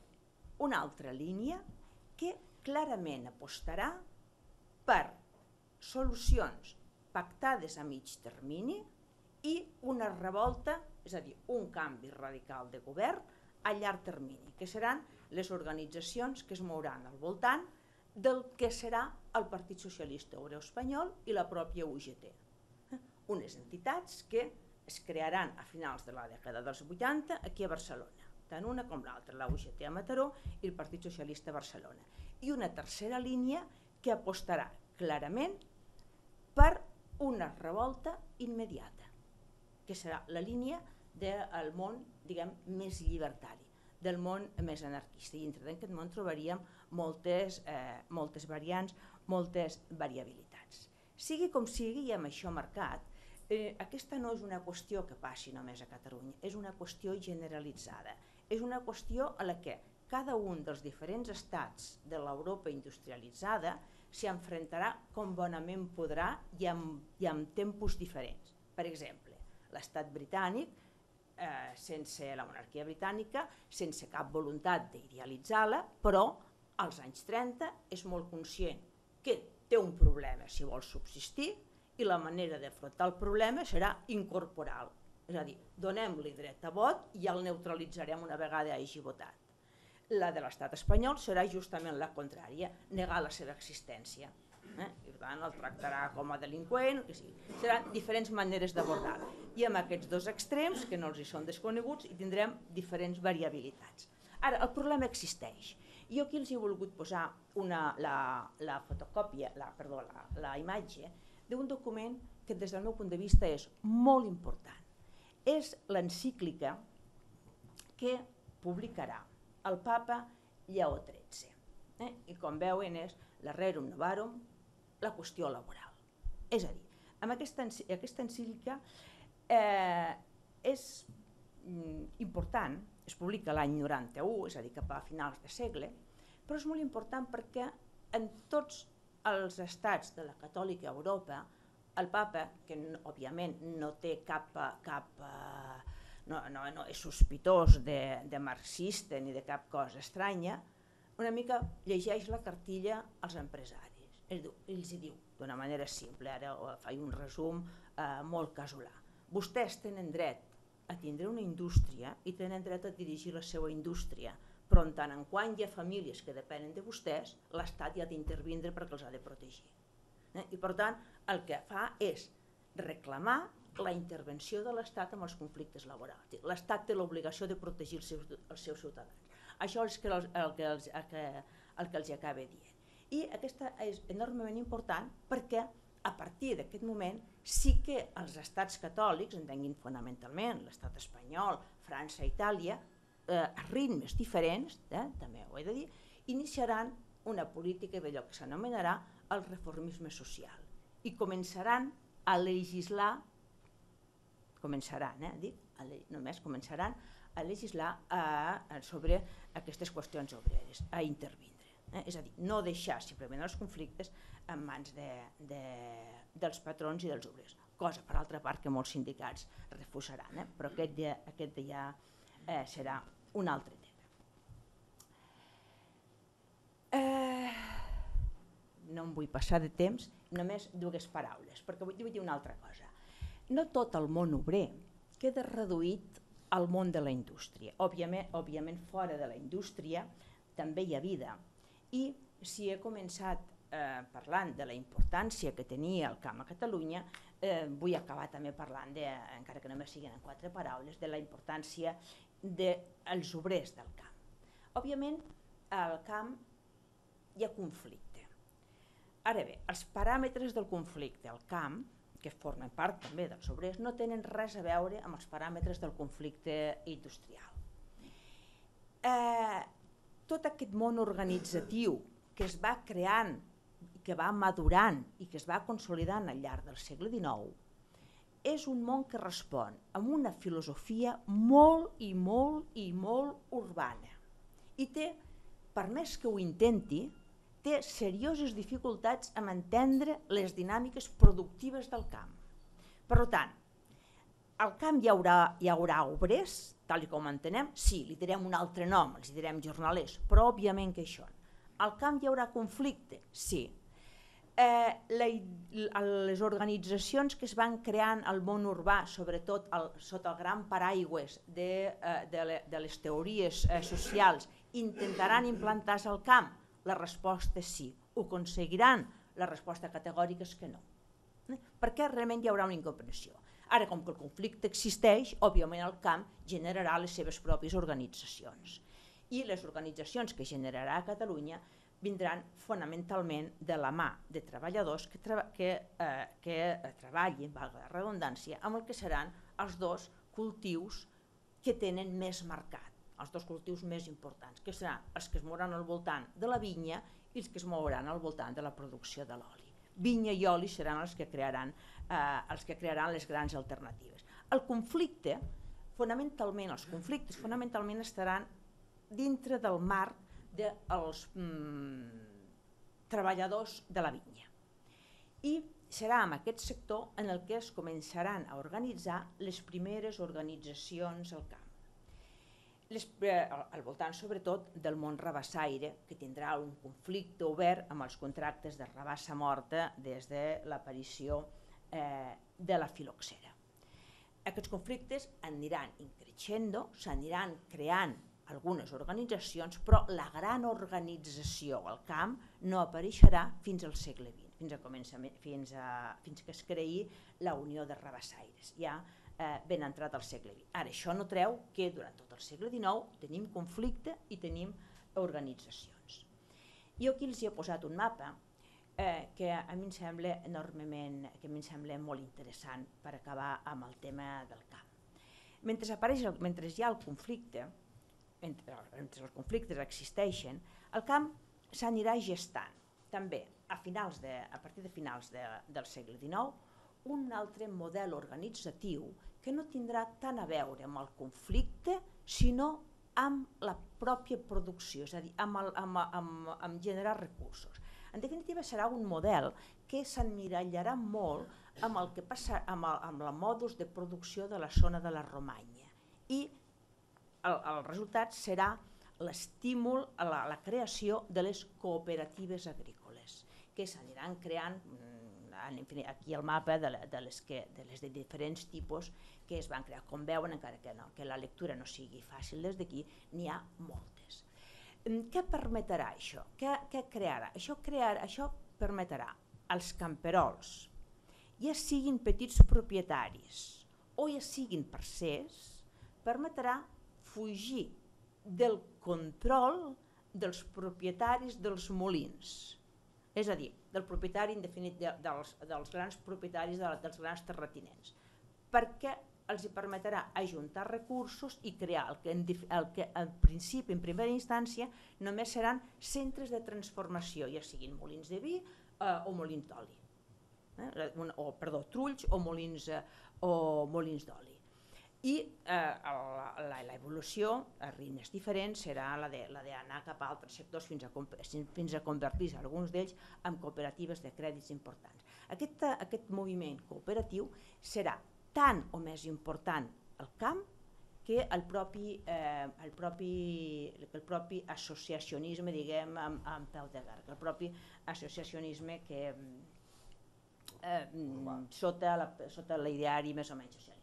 una altra línia que clarament apostarà per solucions pactades a mig termini i una revolta, és a dir, un canvi radical de govern a llarg termini, que seran les organitzacions que es mouran al voltant del que serà el Partit Socialista Obrer Espanyol i la pròpia U G T. Unes entitats que es crearan a finals de la dècada dels vuitanta aquí a Barcelona, tant una com l'altra, la U G T a Mataró i el Partit Socialista a Barcelona. I una tercera línia que apostarà clarament per una revolta immediata, que serà la línia del món, diguem, més llibertari, del món més anarquista. I dintre d'aquest món trobaríem moltes, eh, moltes variants, moltes variabilitats. Sigui com sigui, i amb això marcat, eh, aquesta no és una qüestió que passi només a Catalunya, és una qüestió generalitzada, és una qüestió a la que cada un dels diferents estats de l'Europa industrialitzada s'hi enfrontarà com bonament podrà i amb, i amb tempos diferents. Per exemple, l'estat britànic, eh, sense la monarquia britànica, sense cap voluntat d'idealitzar-la, però als anys trenta és molt conscient que té un problema si vol subsistir i la manera d'afrontar el problema serà incorporar-lo. És a dir, donem-li dret a vot i el neutralitzarem una vegada hagi votat. La de l'estat espanyol serà justament la contrària, negar la seva existència. Eh? I per tant el tractarà com a delinqüent, que sigui. Seran diferents maneres d'abordar-lo. I amb aquests dos extrems, que no els hi són desconeguts, hi tindrem diferents variabilitats. Ara, el problema existeix. Jo aquí els he volgut posar una, la, la fotocòpia, la, perdó, la, la imatge d'un document que des del meu punt de vista és molt important. És l'encíclica que publicarà el papa Lleó tretze. Eh? I com veuen és la Rerum Novarum, la qüestió laboral. És a dir, amb aquesta, aquesta encíclica eh, és mm, important, es publica l'any noranta-u, és a dir, cap a finals de segle, però és molt important perquè en tots els estats de la catòlica Europa, el papa, que no, òbviament no té cap, cap no, no, no és sospitós de, de marxista ni de cap cosa estranya, una mica llegeix la cartilla als empresaris. Ells hi diu, d'una manera simple, ara faig un resum eh, molt casolà. Vostès tenen dret a tindre una indústria i tenen dret a dirigir la seva indústria, però en tant en quant hi ha famílies que depenen de vostès, l'Estat hi ha d'intervindre perquè els ha de protegir. Eh? I per tant, el que fa és reclamar la intervenció de l'Estat en els conflictes laborals. L'Estat té l'obligació de protegir els seus, els seus ciutadans. Això és el, el, que els, el, que, el que els acaba dient. I aquesta és enormement important perquè a partir d'aquest moment sí que els estats catòlics, entenguin fonamentalment l'estat espanyol, França, Itàlia, eh, a ritmes diferents, eh, també ho he de dir, iniciaran una política d'allò que s'anomenarà el reformisme social i començaran a legislar començaran, eh, dic, a le, només començaran a legislar a, a sobre aquestes qüestions obreres, a intervindre. Eh? És a dir, no deixar simplement els conflictes en mans de, de, dels patrons i dels obrers, cosa per altra part que molts sindicats refusaran, eh? Però aquest ja, aquest ja eh, serà un altre tema. Eh, no em vull passar de temps, només dues paraules, perquè vull dir una altra cosa. No tot el món obrer queda reduït al món de la indústria. Òbviament, òbviament fora de la indústria també hi ha vida. I si he començat eh, parlant de la importància que tenia el camp a Catalunya, eh, vull acabar també parlant, de, encara que només siguin en quatre paraules, de la importància dels obrers del camp. Òbviament, al camp hi ha conflicte. Ara bé, els paràmetres del conflicte al camp, que formen part també dels obrers, no tenen res a veure amb els paràmetres del conflicte industrial. Eh, tot aquest món organitzatiu que es va creant, que va madurant i que es va consolidant al llarg del segle dinou, és un món que respon amb una filosofia molt i molt i molt urbana. I té, per més que ho intenti, té serioses dificultats en entendre les dinàmiques productives del camp. Per tant, al camp hi haurà, hi haurà obrers, tal com entenem, sí, li direm un altre nom, els direm jornalers, però òbviament que això. Al camp hi haurà conflicte, sí. Eh, la, les organitzacions que es van creant al món urbà, sobretot el, sota el gran paraigües de, eh, de, le, de les teories eh, socials, intentaran implantar-se al camp? La resposta és sí. Ho aconseguiran? La resposta categòrica és que no. Perquè realment hi haurà una incomprensió. Ara, com que el conflicte existeix, òbviament el camp generarà les seves pròpies organitzacions. I les organitzacions que generarà a Catalunya vindran fonamentalment de la mà de treballadors que, treba, que, eh, que treballin, valga la redundància, amb el que seran els dos cultius que tenen més marcat, els dos cultius més importants, que seran els que es mouran al voltant de la vinya i els que es mouran al voltant de la producció de l'oli. Vinya i oli seran els que crearan, eh, els que crearan les grans alternatives. El conflicte, fonamentalment, els conflictes fonamentalment estaran dintre del marc dels mm, treballadors de la vinya. I serà en aquest sector en el que es començaran a organitzar les primeres organitzacions al camp. Les, eh, al voltant sobretot del món rabassaire, que tindrà un conflicte obert amb els contractes de rabassa morta des de l'aparició eh, de la filoxera. Aquests conflictes aniran increixendo, s'aniran creant algunes organitzacions, però la gran organització al camp no apareixerà fins al segle vint, fins, a fins, a, fins que es creï la Unió de Rabassaires, ja eh, ben entrat al segle vint. Ara, això no treu que durant tot el segle dinou tenim conflicte i tenim organitzacions. Jo aquí els he posat un mapa eh, que a mi em sembla enormement, que a mi em sembla molt interessant per acabar amb el tema del camp. Mentre, apareix, mentre hi ha el conflicte, Entre, entre els conflictes existeixen, el camp s'anirà gestant també a, finals de, a partir de finals de, del segle dinou un altre model organitzatiu que no tindrà tant a veure amb el conflicte sinó amb la pròpia producció, és a dir, amb, el, amb, amb, amb generar recursos. En definitiva serà un model que s'emmirallarà molt amb el que passa amb el, amb el modus de producció de la zona de la Romanya i El, el resultat serà l'estímul a la, la creació de les cooperatives agrícoles, que s'aniran creant, aquí el mapa de, la, de, les que, de les de diferents tipus que es van crear. Com veuen, encara que, no, que la lectura no sigui fàcil des d'aquí, n'hi ha moltes. Què permetrà això? Què, què crearà? Això, crear, això permetrà als camperols, ja siguin petits propietaris o ja siguin parcers, permetrà fugir del control dels propietaris dels molins, és a dir, del propietari indefinit de, dels, dels grans propietaris de, dels grans terratinents, perquè els hi permetrà ajuntar recursos i crear el que, en, el que en principi, en primera instància, només seran centres de transformació, ja siguin molins de vi eh, o molins d'oli, eh, o perdó, trulls o molins, eh, o molins d'oli. I eh, l'evolució a ritmes diferents serà la d'anar cap a altres sectors fins a, fins a convertir-se alguns d'ells en cooperatives de crèdits importants. Aquest, aquest moviment cooperatiu serà tan o més important al camp que el propi, eh, el propi, el propi associacionisme, diguem, amb, amb peu de garg, el propi associacionisme que eh, sota, la, sota l'ideari més o menys socialista.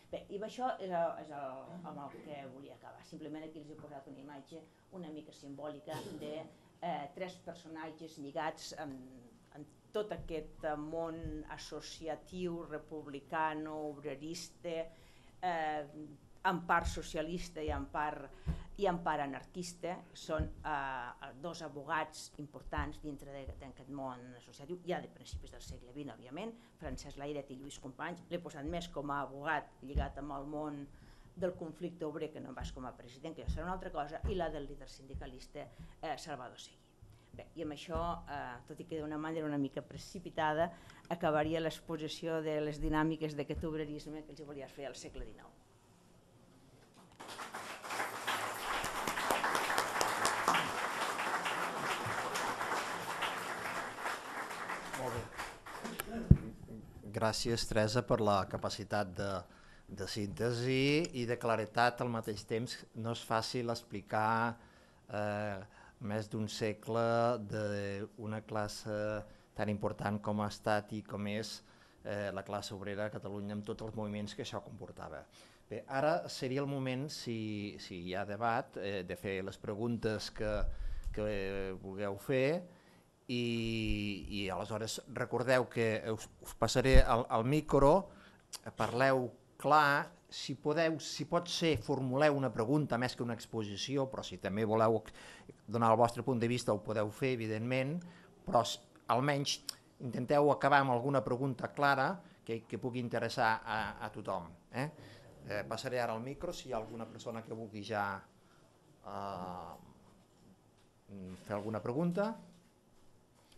Bé, i això és, el, és el, amb el que volia acabar. Simplement aquí els he posat una imatge una mica simbòlica de eh, tres personatges lligats amb, amb tot aquest món associatiu, republicano, obrerista, eh, en part socialista i en part, i en part anarquista. Són eh, dos abogats importants dintre d'aquest món associatiu, ja de principis del segle vint, òbviament, Francesc Layret i Lluís Companys. L'he posat més com a abogat lligat amb el món del conflicte obrer que no pas com a president, que ja serà una altra cosa, i la del líder sindicalista eh, Salvador Seguí. Bé, i amb això, eh, tot i que d'una manera una mica precipitada, acabaria l'exposició de les dinàmiques d'aquest obrerisme que els volia fer al segle dinou. Gràcies, Teresa, per la capacitat de, de síntesi i de claretat al mateix temps. No és fàcil explicar eh, més d'un segle d'una classe tan important com ha estat i com és eh, la classe obrera a Catalunya amb tots els moviments que això comportava. Bé, ara seria el moment, si, si hi ha debat, eh, de fer les preguntes que, que vulgueu fer. I, i aleshores recordeu que us, us passaré el, el micro, parleu clar, si podeu, si pot ser, formuleu una pregunta més que una exposició, però si també voleu donar el vostre punt de vista ho podeu fer, evidentment, però almenys intenteu acabar amb alguna pregunta clara que, que pugui interessar a, a tothom. Eh? Eh, passaré ara el micro, si hi ha alguna persona que vulgui ja eh, fer alguna pregunta.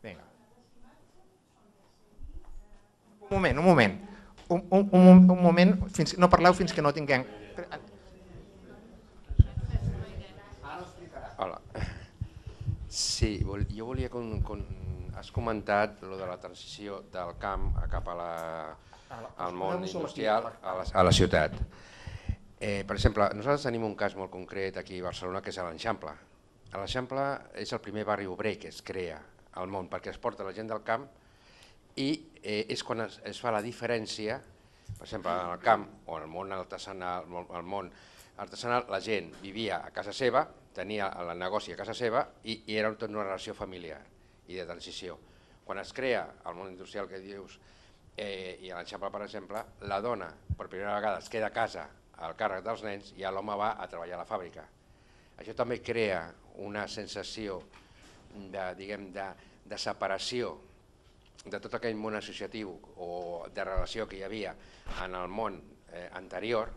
Vinga. Un moment, un moment. Un, un, un, un moment, fins, no parleu fins que no tinguem... Hola. Sí, jo volia... Con, con, has comentat lo de la transició del camp cap a la, al món industrial, a la, a la ciutat. Eh, per exemple, nosaltres tenim un cas molt concret aquí a Barcelona que és l'Eixample. L'Eixample és el primer barri obrer que es crea al món, perquè es porta la gent del camp i eh, és quan es, es fa la diferència, per exemple, en el camp o en el món artesanal, el món artesanal, la gent vivia a casa seva, tenia el negoci a casa seva i, i era tota una relació familiar i de transició. Quan es crea el món industrial que dius, eh, i a l'Eixample, per exemple, la dona per primera vegada es queda a casa al càrrec dels nens i l'home va a treballar a la fàbrica. Això també crea una sensació de, diguem, de, de separació de tot aquell món associatiu o de relació que hi havia en el món eh, anterior,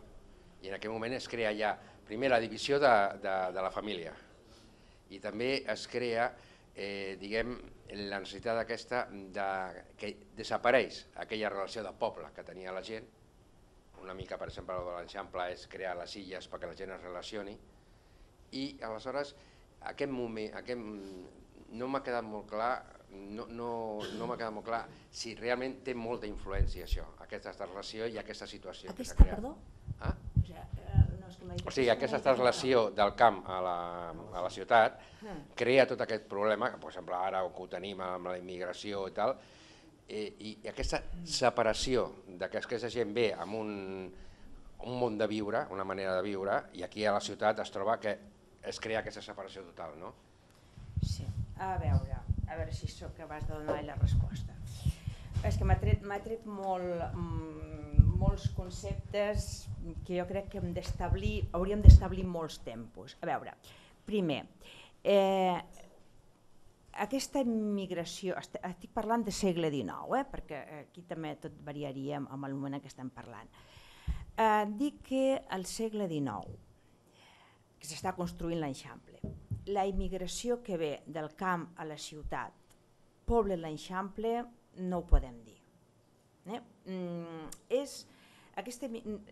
i en aquell moment es crea ja primer la divisió de, de, de la família i també es crea eh, diguem, la necessitat aquesta de, que desapareix aquella relació de poble que tenia la gent. Una mica, per exemple, el de l'Eixample és crear les illes perquè la gent es relacioni i aleshores aquest moment, aquest, no m'ha quedat molt clar, no, no, no m'ha quedat molt clar si realment té molta influència això, aquesta relació i aquesta situació aquesta, que s'ha creat. Perdó? Ah? O sigui, eh, no, és que m'ha dit o sigui, aquesta relació del camp a la, a la ciutat crea tot aquest problema, que per exemple ara que ho tenim amb la immigració i tal, eh, i, i aquesta separació de que aquesta gent ve amb un, un món de viure, una manera de viure, i aquí a la ciutat es troba que es crea aquesta separació total, no? Sí, a veure, a veure si sóc capaç de donar la resposta. És que m'ha tret, m'ha tret molt, mm, molts conceptes que jo crec que hem d'establir, hauríem d'establir molts tempos. A veure, primer, eh, aquesta immigració, estic parlant de segle dinou, eh, perquè aquí també tot variaria amb el moment en què estem parlant. Eh, dic que al segle dinou, que s'està construint l'Eixample, la immigració que ve del camp a la ciutat, poble l'Eixample, no ho podem dir. Eh? Mm, és, aquesta,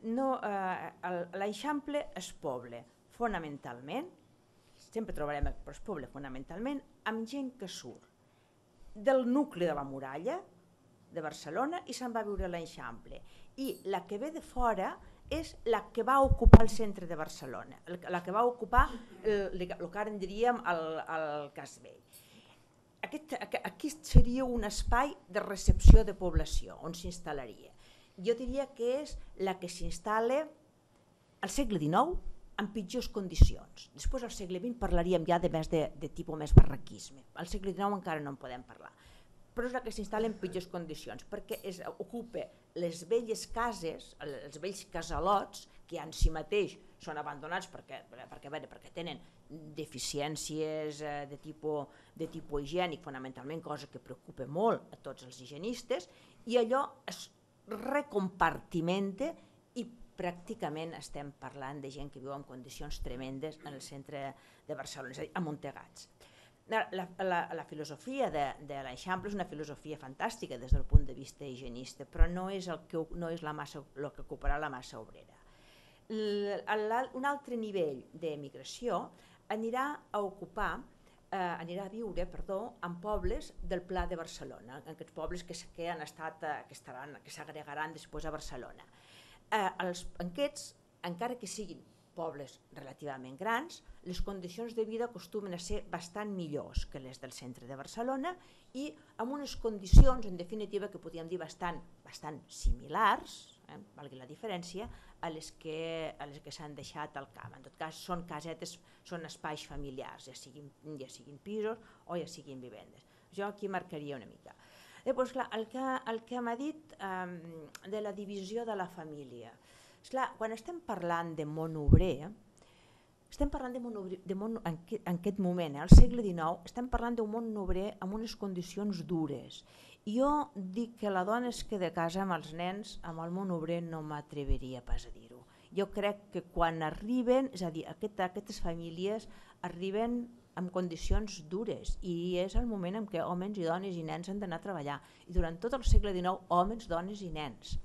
no, eh, l'Eixample és poble fonamentalment, sempre trobarem però és poble fonamentalment, amb gent que surt del nucli de la muralla de Barcelona i se'n va a viure a l'Eixample. I la que ve de fora és la que va ocupar el centre de Barcelona, la que va ocupar el, el que ara en diríem el, el Cas Vell. Aquest, aquest seria un espai de recepció de població on s'instal·laria. Jo diria que és la que s'instal·la al segle dinou en pitjors condicions. Després al segle vint parlaríem ja de, més de, de tipus més barraquisme. Al segle dinou encara no en podem parlar. Però és la que s'instal·la en pitjors condicions, perquè es, ocupa les velles cases, els vells casalots, que en si mateix són abandonats perquè, perquè, veure, perquè tenen deficiències de tipus, de tipus higiènic, fonamentalment, cosa que preocupa molt a tots els higienistes, i allò es recompartimenta i pràcticament estem parlant de gent que viu en condicions tremendes en el centre de Barcelona, és a dir, amuntegats. La, la, la filosofia de, de l'Eixample és una filosofia fantàstica des del punt de vista higienista, però no és el que, no és la massa, el que ocuparà la massa obrera. L, un altre nivell d'emigració anirà a ocupar, eh, anirà a viure, perdó, en pobles del Pla de Barcelona, en aquests pobles que, que han estat, que estaran, que s'agregaran després a Barcelona. Eh, els, aquests, encara que siguin pobles relativament grans, les condicions de vida acostumen a ser bastant millors que les del centre de Barcelona i amb unes condicions, en definitiva, que podríem dir bastant, bastant similars, eh, valgui la diferència, a les que, a les que s'han deixat al camp. En tot cas, són casetes, són espais familiars, ja siguin, ja siguin pisos o ja siguin vivendes. Jo aquí marcaria una mica. Després, clar, el que, el que m'ha dit eh, de la divisió de la família. Esclar, quan estem parlant de món obrer, estem parlant de món obrer, de món, en, que, en aquest moment, eh, al segle dinou, estem parlant d'un món obrer amb unes condicions dures. Jo dic que la dona es queda a casa amb els nens, amb el món obrer no m'atreviria pas a dir-ho. Jo crec que quan arriben, és a dir, aquest, aquestes famílies arriben en condicions dures i és el moment en què homes i dones i nens han d'anar a treballar. I durant tot el segle dinou, homes, dones i nens.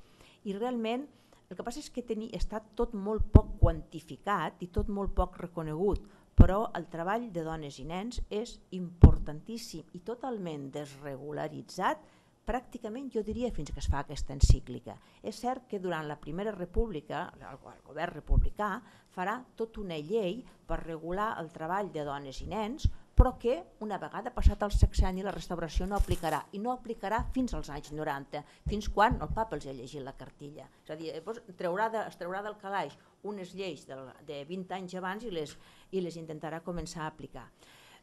I realment, el que passa és que teni, està tot molt poc quantificat i tot molt poc reconegut, però el treball de dones i nens és importantíssim i totalment desregularitzat, pràcticament jo diria fins que es fa aquesta encíclica. És cert que durant la Primera República, el govern republicà farà tota una llei per regular el treball de dones i nens, però que una vegada passat el sexenni la restauració no aplicarà, i no aplicarà fins als anys noranta, fins quan el papa els ha llegit la cartilla. És a dir, traurà de, es traurà del calaix unes lleis de, de vint anys abans i les, i les intentarà començar a aplicar.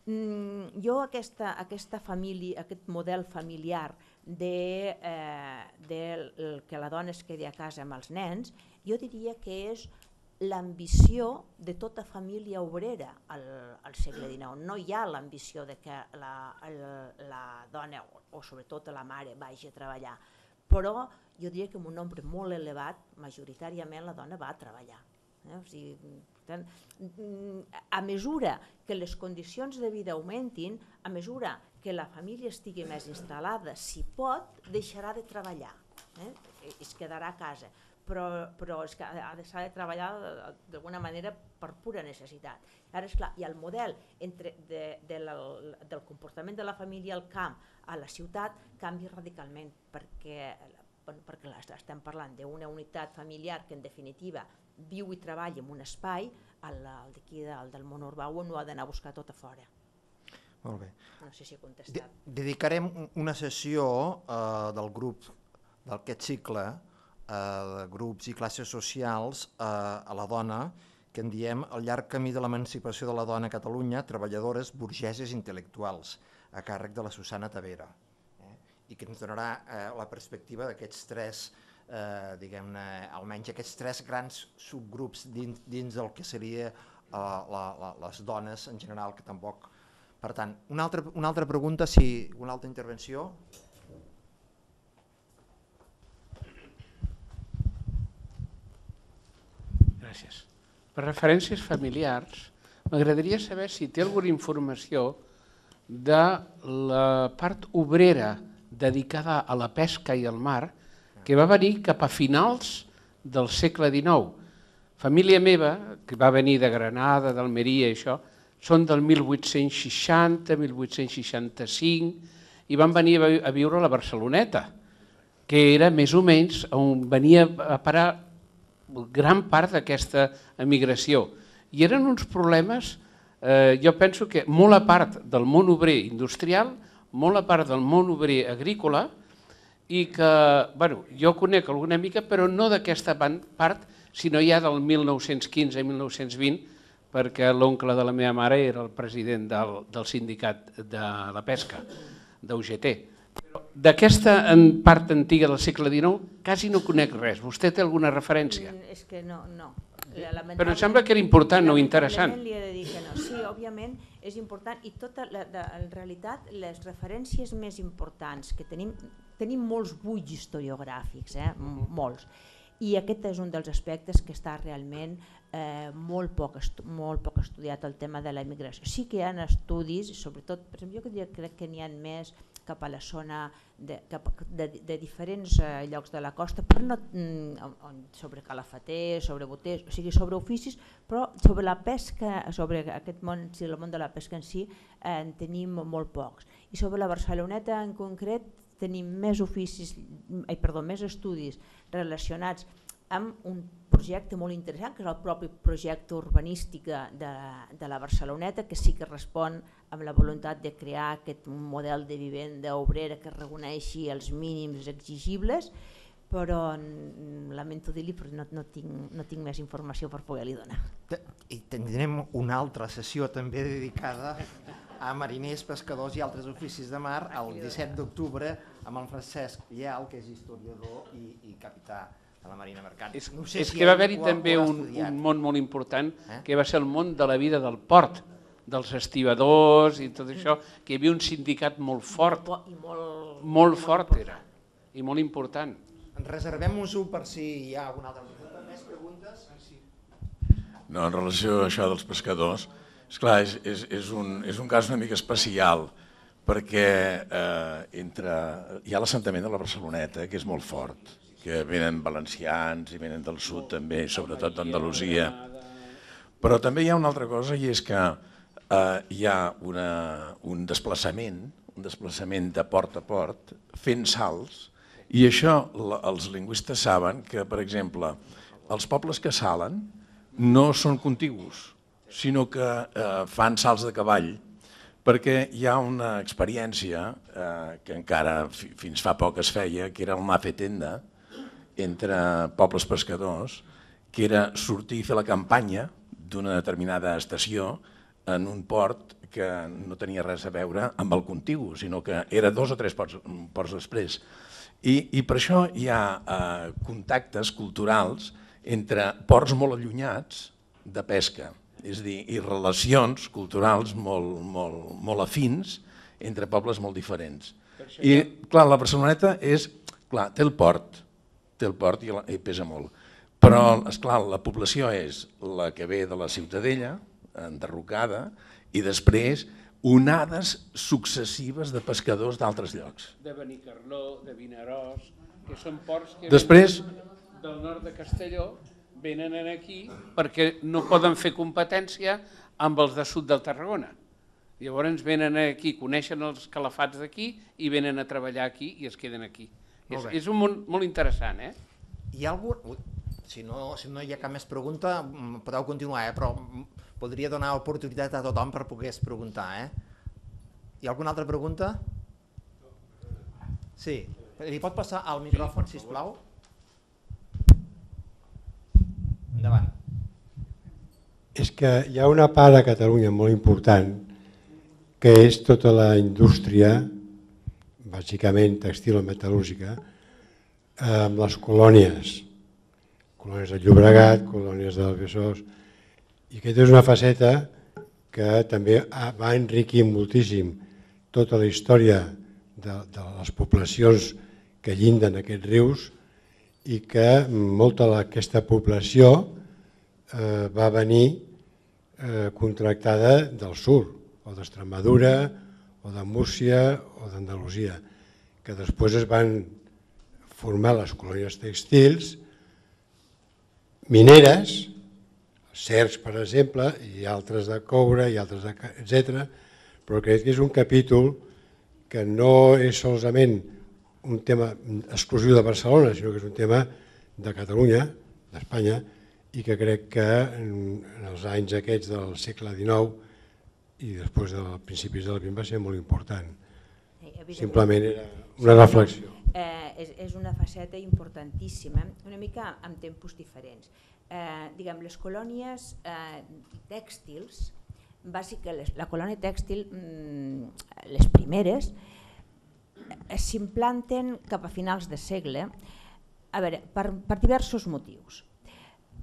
Mm, jo aquesta, aquesta família, aquest model familiar de, eh, de que la dona es quedi a casa amb els nens, jo diria que és l'ambició de tota família obrera al, al segle dinou. No hi ha l'ambició de que la, la, la dona o, o sobretot la mare vagi a treballar, però jo diria que en un nombre molt elevat, majoritàriament la dona va a treballar. Eh? O sigui, tant, a mesura que les condicions de vida augmentin, a mesura que la família estigui més instal·lada, si pot, deixarà de treballar, eh? Es quedarà a casa. Però, però és que s'ha de treballar d'alguna manera per pura necessitat. Ara, esclar, i el model entre de, de la, del comportament de la família al camp a la ciutat canvia radicalment, perquè, bueno, perquè estem parlant d'una unitat familiar que en definitiva viu i treballa en un espai, el, el d'aquí del, del món urbà no ha d'anar a buscar tot a fora. Molt bé. No sé si he contestat. De dedicarem una sessió eh, del grup d'aquest cicle de grups i classes socials a la dona, que en diem el llarg camí de l'emancipació de la dona a Catalunya, treballadores, burgeses i intel·lectuals, a càrrec de la Susana Tavera, eh? I que ens donarà eh, la perspectiva d'aquests tres, eh, diguem-ne, almenys aquests tres grans subgrups dins, dins del que seria eh, la, la, les dones en general, que tampoc... Per tant, una altra, una altra pregunta, si una altra intervenció... Gràcies. Per referències familiars, m'agradaria saber si té alguna informació de la part obrera dedicada a la pesca i al mar que va venir cap a finals del segle dinou. Família meva, que va venir de Granada, d'Almeria i això, són del mil vuit-cents seixanta, mil vuit-cents seixanta-cinc i van venir a viure a la Barceloneta, que era més o menys on venia a parar gran part d'aquesta emigració. I eren uns problemes, eh, jo penso que molt a part del món obrer industrial, molt a part del món obrer agrícola, i que, bueno, jo conec alguna mica, però no d'aquesta part, sinó ja del mil nou-cents quinze i mil nou-cents vint, perquè l'oncle de la meva mare era el president del, del sindicat de la pesca, d'U G T. D'aquesta part antiga del segle dinou quasi no conec res. Vostè té alguna referència? És que no, no. Però em sembla que era important, no interessant. Li he de dir que no. Sí, òbviament és important i tota la, de, en realitat les referències més importants que tenim, tenim molts buits historiogràfics, eh? molts. I aquest és un dels aspectes que està realment eh, molt, poc molt poc estudiat, el tema de la immigració. Sí que hi ha estudis, sobretot, per exemple, jo diria, crec que n'hi ha més cap a la zona de, cap, de, de diferents eh, llocs de la costa, però no mm, sobre calafaters, sobre boters, o sigui, sobre oficis, però sobre la pesca, sobre aquest món, si el món de la pesca en si, eh, en tenim molt pocs. I sobre la Barceloneta en concret, tenim més oficis, ai, perdó, més estudis relacionats amb un projecte molt interessant, que és el propi projecte urbanístic de, de la Barceloneta, que sí que respon amb la voluntat de crear aquest model de vivenda obrera que reconeixi els mínims exigibles, però lamento dir-li, però no, no, tinc, no tinc més informació per poder-li donar. I tindrem una altra sessió també dedicada a mariners, pescadors i altres oficis de mar el disset d'octubre amb el Francesc Lleal, que és historiador i, i capità de la Marina Mercant. És, no sé és si que va haver-hi també un, un món molt important, eh? que va ser el món de la vida del port, dels estibadors i tot això, que hi havia un sindicat molt fort, I molt, molt fort era, i molt important. Reservem-nos-ho per si hi ha alguna altra pregunta. Més preguntes? No, en relació a això dels pescadors, esclar, és, és, és, un, és un cas una mica especial, perquè eh, entre, hi ha l'assentament de la Barceloneta, que és molt fort, que venen valencians i venen del sud també, sobretot d'Andalusia. Però també hi ha una altra cosa, i és que eh, hi ha una, un desplaçament, un desplaçament de port a port, fent salts, i això els lingüistes saben que, per exemple, els pobles que salen no són contigus, sinó que eh, fan salts de cavall, perquè hi ha una experiència eh, que encara fi, fins fa poc es feia, que era el anar a fer tenda entre pobles pescadors, que era sortir i fer la campanya d'una determinada estació en un port que no tenia res a veure amb el contigu, sinó que era dos o tres ports, ports després. I, i per això hi ha eh, contactes culturals entre ports molt allunyats de pesca, és a dir, i relacions culturals molt, molt, molt afins entre pobles molt diferents. I clar, la Barceloneta és, clar, té el port, té el port i, la, i pesa molt, però esclar, la població és la que ve de la Ciutadella, enderrocada, i després onades successives de pescadors d'altres llocs. De Benicarló, de Vinaròs, que són ports que després, venen del nord de Castelló, venen aquí perquè no poden fer competència amb els de sud del Tarragona. Llavors venen aquí, coneixen els calafats d'aquí i venen a treballar aquí i es queden aquí. És, és un món molt interessant, eh? Hi ha algun... Si no, si no hi ha cap més pregunta, podeu continuar, eh? Però podria donar oportunitat a tothom per poder preguntar, eh? Hi ha alguna altra pregunta? Sí. Li pot passar al micròfon, sisplau? Endavant. És que hi ha una part a Catalunya molt important que és tota la indústria, bàsicament textil o metal·lúrgica, amb les colònies, colònies de Llobregat, colònies del Besòs, i aquesta és una faceta que també va enriquir moltíssim tota la història de, de les poblacions que llinden aquests rius i que molta d'aquesta població eh, va venir eh, contractada del sud, o d'Extremadura, o de Múrcia, o d'Andalusia, que després es van formar les colònies tèxtils, mineres, cercs, per exemple, i altres de coure, i altres de, etcètera, però crec que és un capítol que no és solament un tema exclusiu de Barcelona, sinó que és un tema de Catalunya, d'Espanya i que crec que en els anys aquests del segle dinou i després dels principis de la vint va ser molt important. Simplement era una reflexió. Eh, és, és una faceta importantíssima, una mica amb tempos diferents. Eh, diguem, les colònies eh, tèxtils, bàsicament les, la colònia tèxtil, mm, les primeres, eh, s'implanten cap a finals de segle, a veure, per, per diversos motius.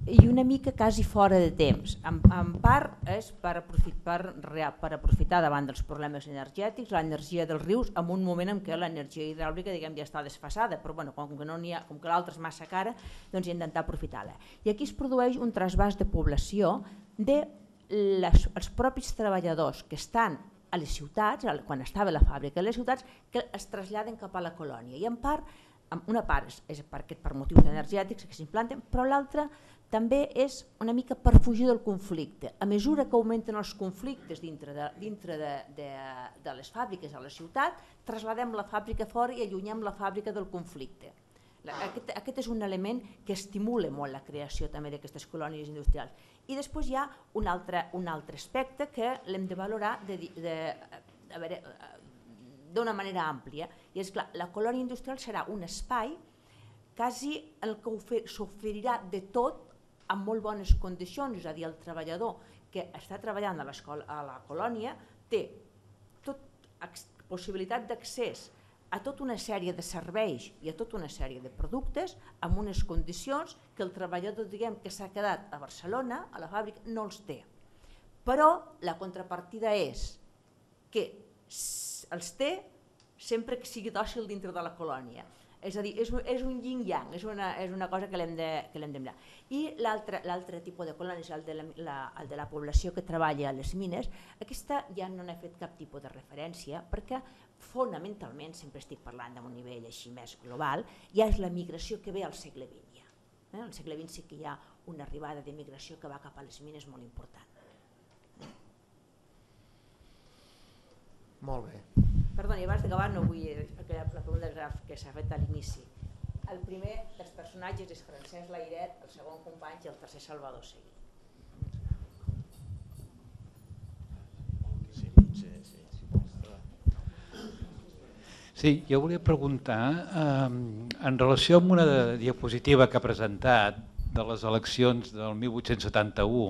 I una mica quasi fora de temps. En, en part és per aprofitar, per, per aprofitar davant dels problemes energètics l'energia dels rius en un moment en què l'energia hidràulica diguem, ja està desfasada, però bueno, com que, no ha, com que l'altra és massa cara, doncs intentar aprofitar-la. I aquí es produeix un trasbàs de població de les, els propis treballadors que estan a les ciutats, quan estava la fàbrica a les ciutats, que es traslladen cap a la colònia. I en part, una part és, és per, per motius energètics que s'implanten, però l'altra també és una mica per fugir del conflicte. A mesura que augmenten els conflictes dintre de, dintre de, de, de les fàbriques a la ciutat, trasladem la fàbrica fora i allunyem la fàbrica del conflicte. Aquest, aquest és un element que estimula molt la creació també d'aquestes colònies industrials. I després hi ha un altre, un altre aspecte que l'hem de valorar de, de, a veure, d'una manera àmplia, i és clar, la colònia industrial serà un espai quasi el que s'oferirà de tot en molt bones condicions, és a dir, el treballador que està treballant a, a la colònia té tot, possibilitat d'accés a tota una sèrie de serveis i a tota una sèrie de productes amb unes condicions que el treballador diguem que s'ha quedat a Barcelona, a la fàbrica, no els té. Però la contrapartida és que els té sempre que sigui dòcil dintre de la colònia. És a dir, és, és un yin-yang, és, una, és una cosa que l'hem de, que l'hem de mirar. I l'altre tipus de colònia és el de la, la, el de la població que treballa a les mines. Aquesta ja no n'he fet cap tipus de referència perquè fonamentalment, sempre estic parlant d'un nivell així més global, ja és la migració que ve al segle vint. Ja. Eh? Al segle vint sí que hi ha una arribada de migració que va cap a les mines molt important. Molt bé. Perdoni, abans d'acabar no vull aquella la pregunta que s'ha fet a l'inici. El primer dels personatges és Francesc Layret, el segon Companys i el tercer Salvador Seguí. Sí, jo volia preguntar, eh, en relació amb una diapositiva que ha presentat de les eleccions del mil vuit-cents setanta-u,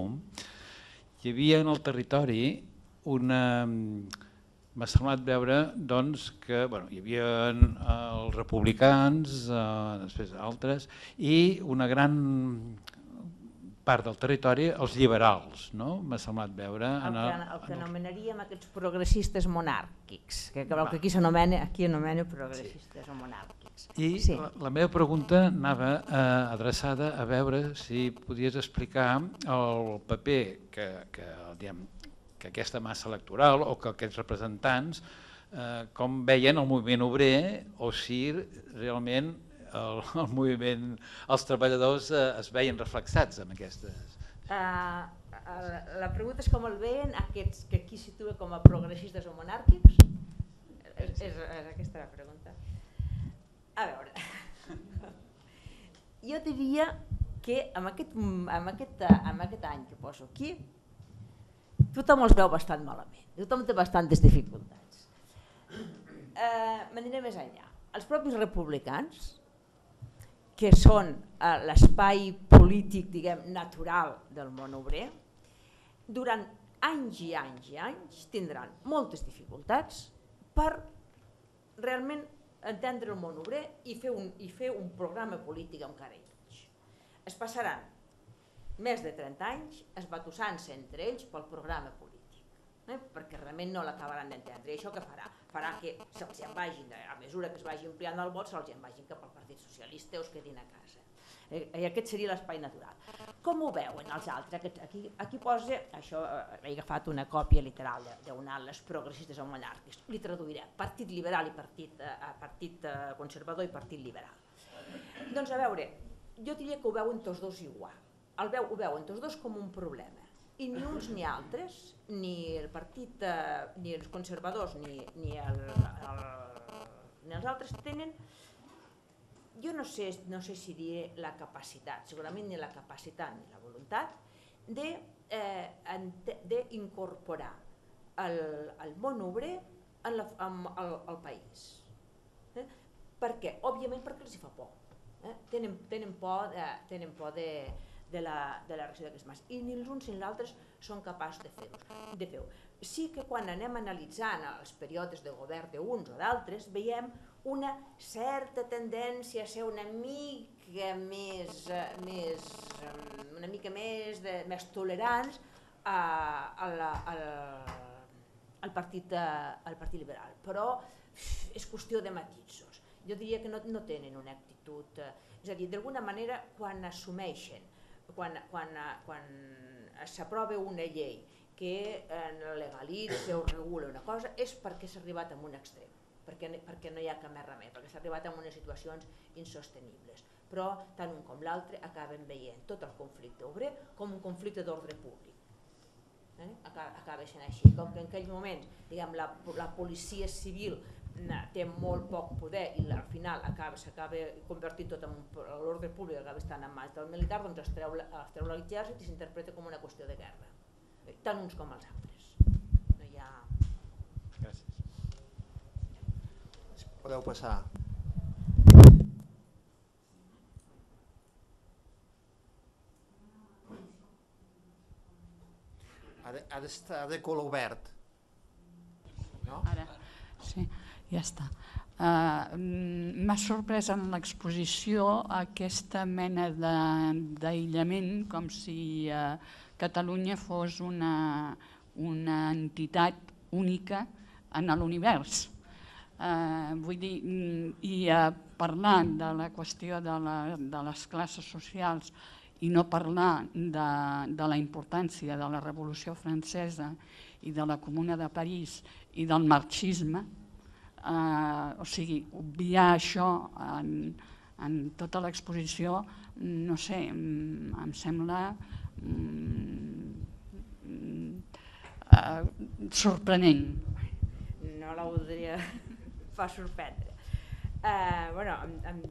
hi havia en el territori una... M'ha semblat veure doncs, que bueno, hi havia els republicans, eh, després altres, i una gran part del territori els liberals, no? M'ha semblat veure... El que, el que anomenaríem aquests progressistes monàrquics, que el que aquí s'anomena aquí anomena progressistes sí. o monàrquics. I sí. la, la meva pregunta anava eh, adreçada a veure si podies explicar el paper que, que diguem, que aquesta massa electoral o que aquests representants eh, com veien el moviment obrer o si realment el, el moviment, els treballadors eh, es veien reflexats en aquestes. Uh, la pregunta és com el veien aquests que aquí situa com a progressistes o monàrquics? És, és, és aquesta la pregunta. A veure, jo diria que amb aquest, amb aquest, amb aquest any que poso aquí tothom els veu bastant malament, tothom té bastantes dificultats. Eh, M'aniré més enllà. Els propis republicans, que són eh, l'espai polític diguem, natural del món obrer, durant anys i anys i anys tindran moltes dificultats per realment entendre el món obrer i fer un, i fer un programa polític amb cara i mig. Es passaran més de trenta anys esbatussant-se entre ells pel programa polític, eh? perquè realment no l'acabaran d'entendre. I això què farà? Farà que se'ls en vagin, a mesura que es vagi ampliant el vot, se'ls en vagin cap al Partit Socialista o es quedin a casa. I aquest seria l'espai natural. Com ho veuen els altres? Aquí, aquí posa, això he agafat una còpia literal d'un alt, les progressistes o monàrquics, li traduiré, partit liberal i partit, eh, partit conservador i partit liberal. Doncs a veure, jo diria que ho veuen tots dos igual. El veu, ho veuen tots dos com un problema i ni uns ni altres, ni el partit, eh, ni els conservadors ni, ni, el, el, ni els altres tenen jo no sé, no sé si diré la capacitat, segurament ni la capacitat ni la voluntat d'incorporar el, el món obrer en la, en, al, al país. Eh? Per què? Òbviament perquè els hi fa por. Eh? Tenen, tenen por, de, tenen por de, de la, de la reacció d'aquests mans. I ni els uns ni els altres són capaços de fer-ho. De fer-ho. Sí que quan anem analitzant els períodes de govern d'uns o d'altres, veiem una certa tendència a ser una mica més, més, una mica més, de, més tolerants a, a la, a la, al, partit, al Partit Liberal. Però és qüestió de matisos. Jo diria que no, no tenen una actitud... És a dir, d'alguna manera, quan assumeixen, quan, quan, quan s'aprova una llei que legalitza o regula una cosa, és perquè s'ha arribat a un extrem, perquè, perquè no hi ha cap més remei, perquè s'ha arribat a unes situacions insostenibles. Però tant un com l'altre acaben veient tot el conflicte obrer com un conflicte d'ordre públic. Eh? Acaba sent així, com que en aquell moment diguem, la, la policia civil té molt poc poder i al final s'acaba convertint tot en l'ordre públic, acaba estant en mans del militar, doncs es treu, es treu l'exèrcit i s'interpreta com una qüestió de guerra, tant uns com els altres. No hi ha... Gràcies. Podeu passar. Ha de, ha d'estar de color verd. No? Ara, sí, ja està. Uh, M'ha sorprès en l'exposició aquesta mena d'aïllament, com si uh, Catalunya fos una, una entitat única en l'univers. Uh, vull dir, i uh, parlar de la qüestió de, la, de les classes socials i no parlar de, de la importància de la Revolució Francesa i de la Comuna de París i del marxisme, eh, o sigui, obviar això en, en tota l'exposició, no sé, em sembla mm, eh, sorprenent. No la voldria fa sorprendre. Eh, bueno, amb, amb,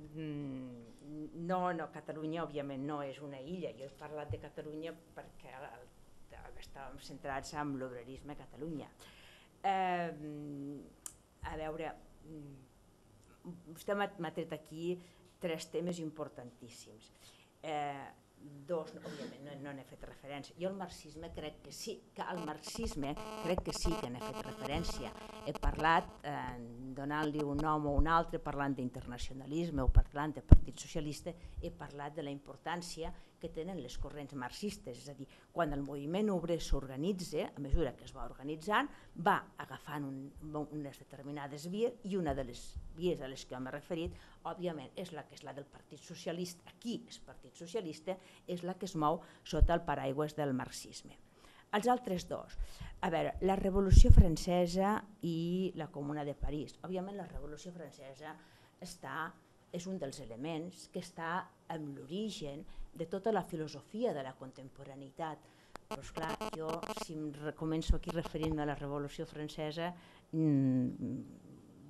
No, no, Catalunya òbviament no és una illa. Jo he parlat de Catalunya perquè estàvem centrats en l'obrerisme a Catalunya. Eh, a veure, vostè m'ha tret aquí tres temes importantíssims. Eh, dos, òbviament, no, no n'he fet referència. Jo al marxisme crec que sí, que al marxisme crec que sí que n'he fet referència. He parlat, eh, donant-li un nom o un altre, parlant d'internacionalisme o parlant de Partit Socialista, he parlat de la importància que tenen les corrents marxistes, és a dir, quan el moviment obrer s'organitza, a mesura que es va organitzant, va agafant un, unes determinades vies, i una de les vies a les que m'he referit, òbviament, és la que és la del Partit Socialista, aquí és Partit Socialista, és la que es mou sota el paraigües del marxisme. Els altres dos, a veure, la Revolució Francesa i la Comuna de París. Òbviament la Revolució Francesa està, és un dels elements que està en l'origen de tota la filosofia de la contemporaneïtat. Però esclar, jo si em començo aquí referint-me a la Revolució Francesa, mmm,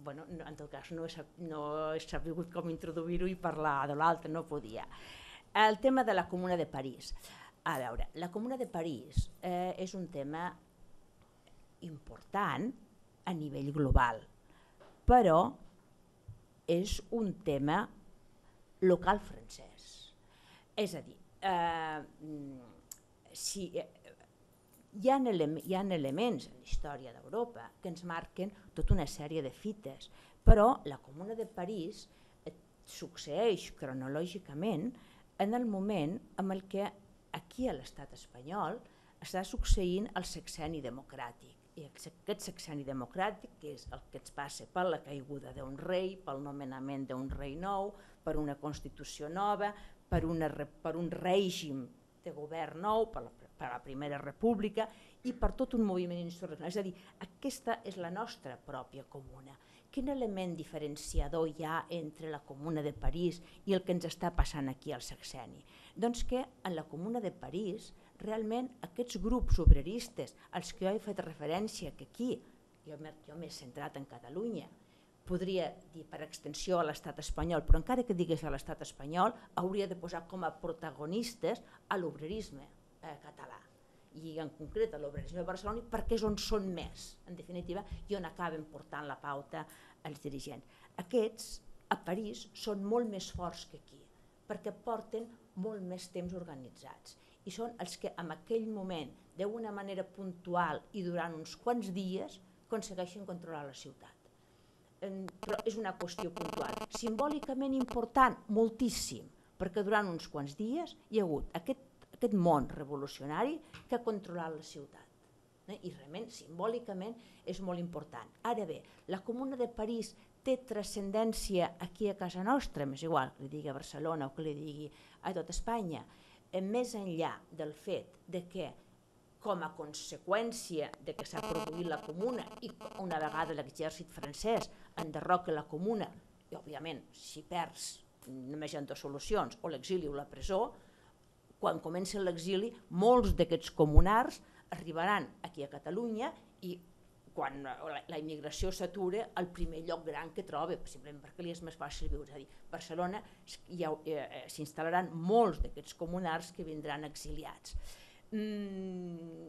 bueno, no, en tot cas no he, no he sabut com introduir-ho i parlar de l'altre, no podia. El tema de la Comuna de París. A veure, la Comuna de París eh, és un tema important a nivell global, però és un tema local francès. És a dir, eh, si, eh, hi ha, ele hi ha elements en la història d'Europa que ens marquen tota una sèrie de fites, però la Comuna de París eh, succeeix cronològicament en el moment en el que aquí a l'estat espanyol està succeint el sexenni democràtic. I aquest sexenni democràtic, que és el que ens passa per la caiguda d'un rei, pel nomenament d'un rei nou, per una Constitució nova, per, una, per un règim de govern nou, per la, per la Primera República i per tot un moviment insurreccional. És a dir, aquesta és la nostra pròpia comuna. Quin element diferenciador hi ha entre la Comuna de París i el que ens està passant aquí al sexenni? Doncs que en la Comuna de París realment aquests grups obreristes als que jo he fet referència, que aquí jo m'he centrat en Catalunya, podria dir per extensió a l'estat espanyol, però encara que digués a l'estat espanyol, hauria de posar com a protagonistes a l'obrerisme eh, català, i en concret a l'obrerisme de Barcelona, perquè és on són més, en definitiva, i on acaben portant la pauta els dirigents. Aquests, a París, són molt més forts que aquí, perquè porten molt més temps organitzats, i són els que en aquell moment, d'una manera puntual i durant uns quants dies, aconsegueixen controlar la ciutat. Però és una qüestió puntual. Simbòlicament important, moltíssim, perquè durant uns quants dies hi ha hagut aquest, aquest món revolucionari que ha controlat la ciutat. Eh? I realment, simbòlicament, és molt important. Ara bé, la Comuna de París té transcendència aquí a casa nostra, m'és igual que li digui a Barcelona o que li digui a tot Espanya, eh, més enllà del fet de que com a conseqüència de que s'ha produït la Comuna i una vegada l'exèrcit francès enderroca la Comuna, i òbviament si perds només hi ha dues solucions, o l'exili o la presó, quan comença l'exili molts d'aquests comunars arribaran aquí a Catalunya i quan la immigració s'atura, el primer lloc gran que troba, simplement perquè li és més fàcil viure. És a dir, a Barcelona s'instal·laran molts d'aquests comunars que vindran exiliats. Mm,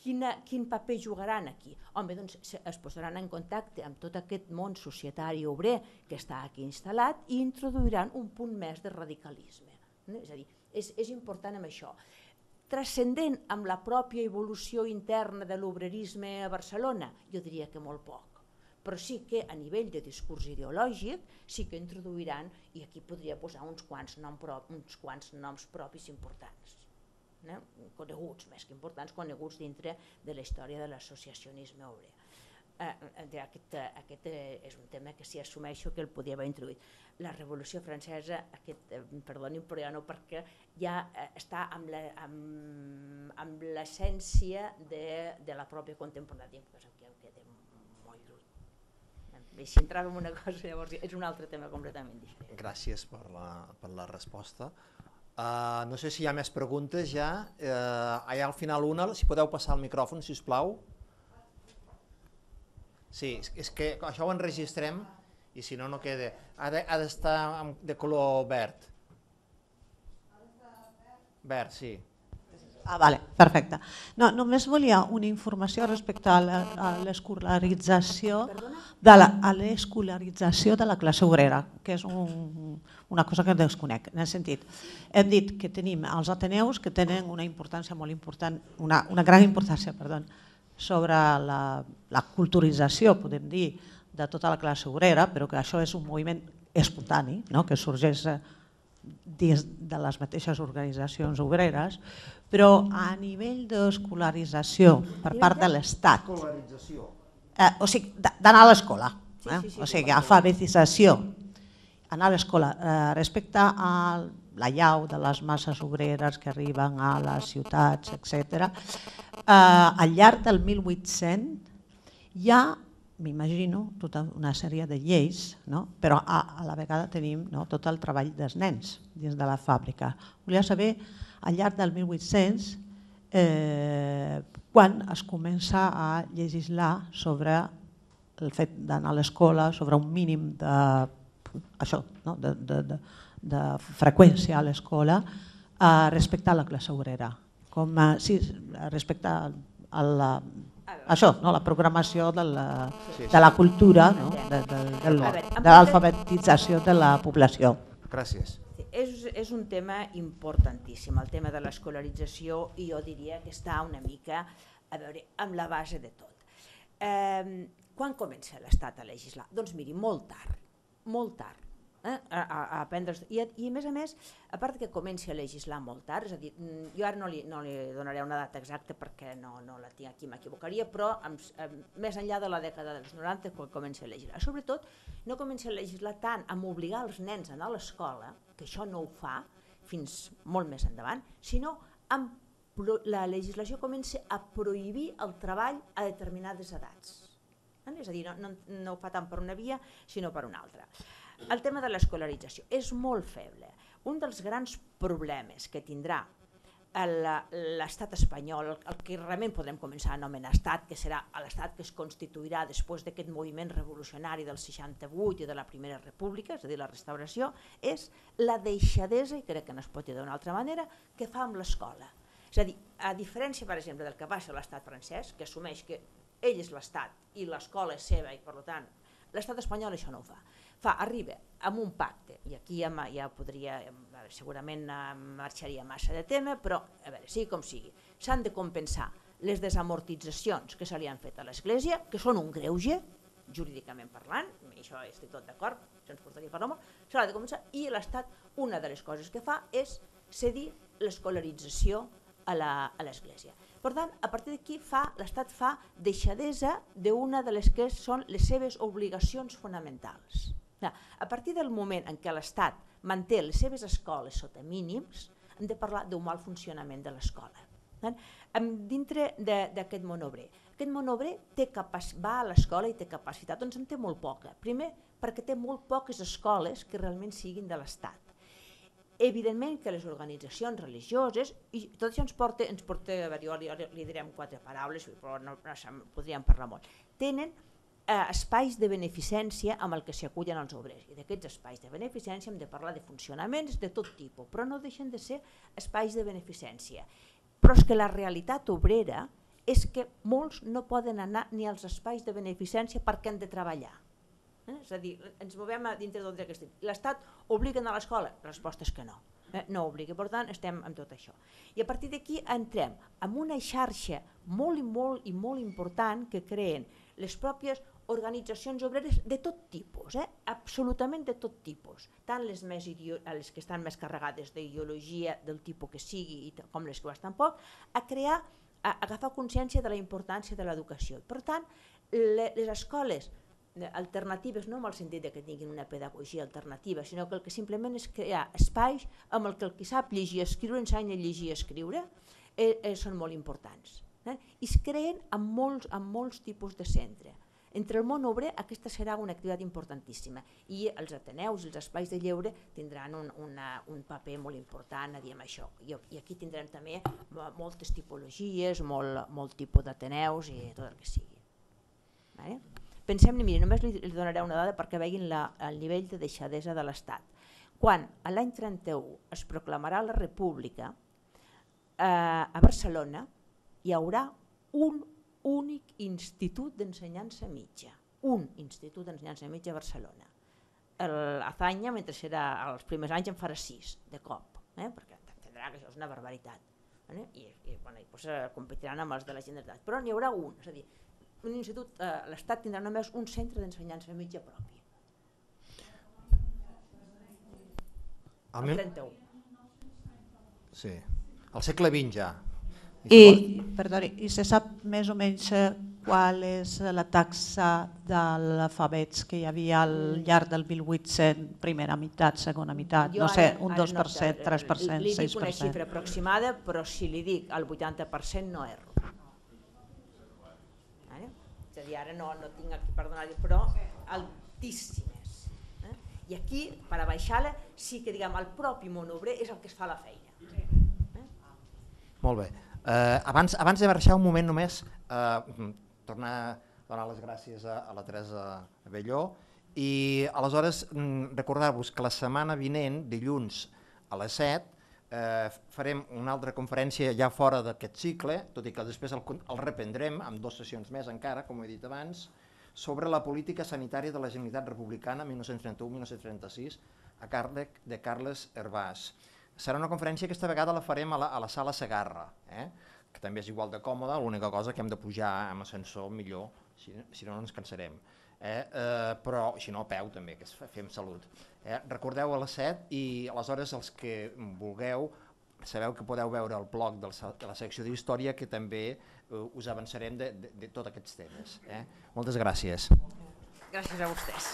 quina, quin paper jugaran aquí? Home, doncs es posaran en contacte amb tot aquest món societari obrer que està aquí instal·lat i introduiran un punt més de radicalisme. No? És a dir, és, és important amb això. Transcendent amb la pròpia evolució interna de l'obrerisme a Barcelona, jo diria que molt poc. Però sí que a nivell de discurs ideològic sí que introduiran, i aquí podria posar uns quants, nom prop, uns quants noms propis importants. No? Coneguts, més que importants, coneguts dintre de la història de l'associacionisme obrer. Eh, aquest, aquest és un tema que sí assumeixo que el podia haver introduït. La Revolució Francesa, aquest, eh, perdoni, però ja no, perquè ja eh, està amb l'essència de, de la pròpia contemporània, cosa que em queda molt lluny. I si entrava en una cosa, llavors és un altre tema completament diferent. Gràcies per la, per la resposta. Uh, no sé si hi ha més preguntes ja. Uh, allà al final una, si podeu passar el micròfon, si us plau. Sí, és que això ho enregistrem i si no, no queda. Ha d'estar de color verd. Verd, sí. Ah, vale, perfecte. No, només volia una informació respecte a l'escolarització de la, a l'escolarització de la classe obrera, que és un, una cosa que desconec. En el sentit, hem dit que tenim els ateneus que tenen una importància molt important, una, una gran importància, perdó, sobre la, la culturització, podem dir, de tota la classe obrera, però que això és un moviment espontani, no? Que sorgeix dins de les mateixes organitzacions obreres, però a nivell d'escolarització per part de l'Estat, eh, o sigui, d'anar a l'escola, eh? O sigui, alfabetització, anar a l'escola, eh, respecte a la llau de les masses obreres que arriben a les ciutats, etcètera. Eh, al llarg del mil vuit-cents hi ha, m'imagino, tota una sèrie de lleis, no? Però a, a la vegada tenim, no, tot el treball dels nens dins de la fàbrica. Volia saber, al llarg del mil vuit-cents, eh, quan es comença a legislar sobre el fet d'anar a l'escola, sobre un mínim de, això, no? de, de, de, de freqüència a l'escola eh, respecte a la classe obrera. Com, eh, sí, respecte a, a la... Això, no? La programació de la, de la cultura, no? de, de, de, de l'alfabetització de la població. Gràcies. És, és un tema importantíssim, el tema de l'escolarització, i jo diria que està una mica a veure, amb la base de tot. Eh, quan comença l'Estat a legislar? Doncs miri, molt tard, molt tard. Eh? A, a, a aprendre, i, I a més a més, a part que comenci a legislar molt tard, és a dir, jo ara no li, no li donaré una data exacta perquè no, no la tinc aquí, m'equivocaria, però amb, amb, més enllà de la dècada dels noranta quan comença a legislar. Sobretot no comença a legislar tant amb obligar els nens a anar a l'escola, que això no ho fa fins molt més endavant, sinó amb la legislació comença a prohibir el treball a determinades edats. És a dir, no, no, no ho fa tant per una via, sinó per una altra. El tema de l'escolarització és molt feble. Un dels grans problemes que tindrà l'estat espanyol, el que realment podrem començar a anomenar estat, que serà l'estat que es constituirà després d'aquest moviment revolucionari del seixanta-vuit i de la Primera República, és a dir, la restauració, és la deixadesa, i crec que no es pot dir d'una altra manera, que fa amb l'escola. És a dir, a diferència, per exemple, del que va ser l'estat francès, que assumeix que ell és l'estat i l'escola és seva i, per tant, l'estat espanyol això no ho fa. Fa, arriba amb un pacte, i aquí ja, ja podria, segurament marxaria massa de tema, però a veure, sigui com sigui, s'han de compensar les desamortitzacions que se li han fet a l'Església, que són un greuge, jurídicament parlant, i això estic tot d'acord, això ens portaria a parlar molt, se l'ha de compensar, i l'Estat, una de les coses que fa és cedir l'escolarització a l'Església. Per tant, a partir d'aquí l'Estat fa deixadesa d'una de les que són les seves obligacions fonamentals. A partir del moment en què l'Estat manté les seves escoles sota mínims, hem de parlar d'un mal funcionament de l'escola. Dintre d'aquest món obrer, aquest món obrer va a l'escola i té capacitat, doncs en té molt poca. Primer, perquè té molt poques escoles que realment siguin de l'Estat. Evidentment que les organitzacions religioses, i tot això ens porta, ens porta a veure, jo li, li diré en quatre paraules, però no, no podríem parlar molt, tenen eh, espais de beneficència amb el que s'hi acullen els obrers, i d'aquests espais de beneficència hem de parlar de funcionaments de tot tipus, però no deixen de ser espais de beneficència. Però és que la realitat obrera és que molts no poden anar ni als espais de beneficència perquè han de treballar. Eh? És a dir, ens movem dintre d'on d'aquest tipus. L'Estat obliga a l'escola? La resposta és que no. Eh? No obliga, per tant estem amb tot això. I a partir d'aquí entrem en una xarxa molt i molt i molt important que creen les pròpies organitzacions obreres de tot tipus, eh? Absolutament de tot tipus, tant les, més les que estan més carregades d'ideologia del tipus que sigui i com les que ho estan poc, a crear, a agafar consciència de la importància de l'educació. Per tant, les escoles alternatives, no en el sentit que tinguin una pedagogia alternativa, sinó que el que simplement és crear espais amb el que el qui sap llegir i escriure ensenya a llegir i escriure, eh, eh, són molt importants. Eh? I es creen amb molts, amb molts tipus de centre. Entre el món obrer aquesta serà una activitat importantíssima i els ateneus i els espais de lleure tindran un, una, un paper molt important a dir amb això. I, i aquí tindrem també moltes tipologies, molt, molt tipus d'ateneus i tot el que sigui. Vale? Pensem, miri, només li, li donaré una dada perquè veguin la, el nivell de deixadesa de l'Estat. Quan a l'any trenta-u es proclamarà la República, eh, a Barcelona hi haurà un únic institut d'ensenyança mitja. Un institut d'ensenyança mitja a Barcelona. L'Azanya, mentre serà els primers anys, en farà sis de cop, eh, perquè entendrà que això és una barbaritat. Eh? I, i, bueno, i pues, eh, competiran amb els de la Generalitat. Però n'hi haurà un, és a dir, un institut, eh, l'Estat tindrà només un centre d'ensenyança mitja propi. El trenta-u. Sí, al segle vint ja. I, perdoni, i se sap més o menys qual és la taxa d'alfabets que hi havia al llarg del mil vuit-cents, primera meitat, segona meitat, no sé, un dos per cent, tres per cent, sis per cent. Li dic una xifra aproximada, però si li dic el vuitanta per cent no erro. És a dir, ara no, no tinc aquí per donar-li, però altíssimes. Eh? I aquí, per a baixar-la, sí que diguem, el propi món obrer és el que es fa la feina. Eh? Molt bé. Eh, abans, abans de marxar un moment només, eh, tornar a donar les gràcies a, a la Teresa Abelló i aleshores recordar-vos que la setmana vinent, dilluns a les set, Eh, farem una altra conferència ja fora d'aquest cicle, tot i que després el, el reprendrem amb dues sessions més encara, com he dit abans, sobre la política sanitària de la Generalitat Republicana mil nou-cents trenta-u a mil nou-cents trenta-sis a càrrec de Carles Hervàs. Serà una conferència que aquesta vegada la farem a la, a la sala Segarra, eh? que també és igual de còmoda, l'única cosa que hem de pujar amb ascensor millor, si, si no, no ens cansarem. Eh? Eh, però si no a peu també, que fem salut. Eh? Recordeu a les set i aleshores els que vulgueu sabeu que podeu veure el blog de la secció d'Història que també eh, us avançarem de, de, de tots aquests temes. Eh? Moltes gràcies. Gràcies a vostès.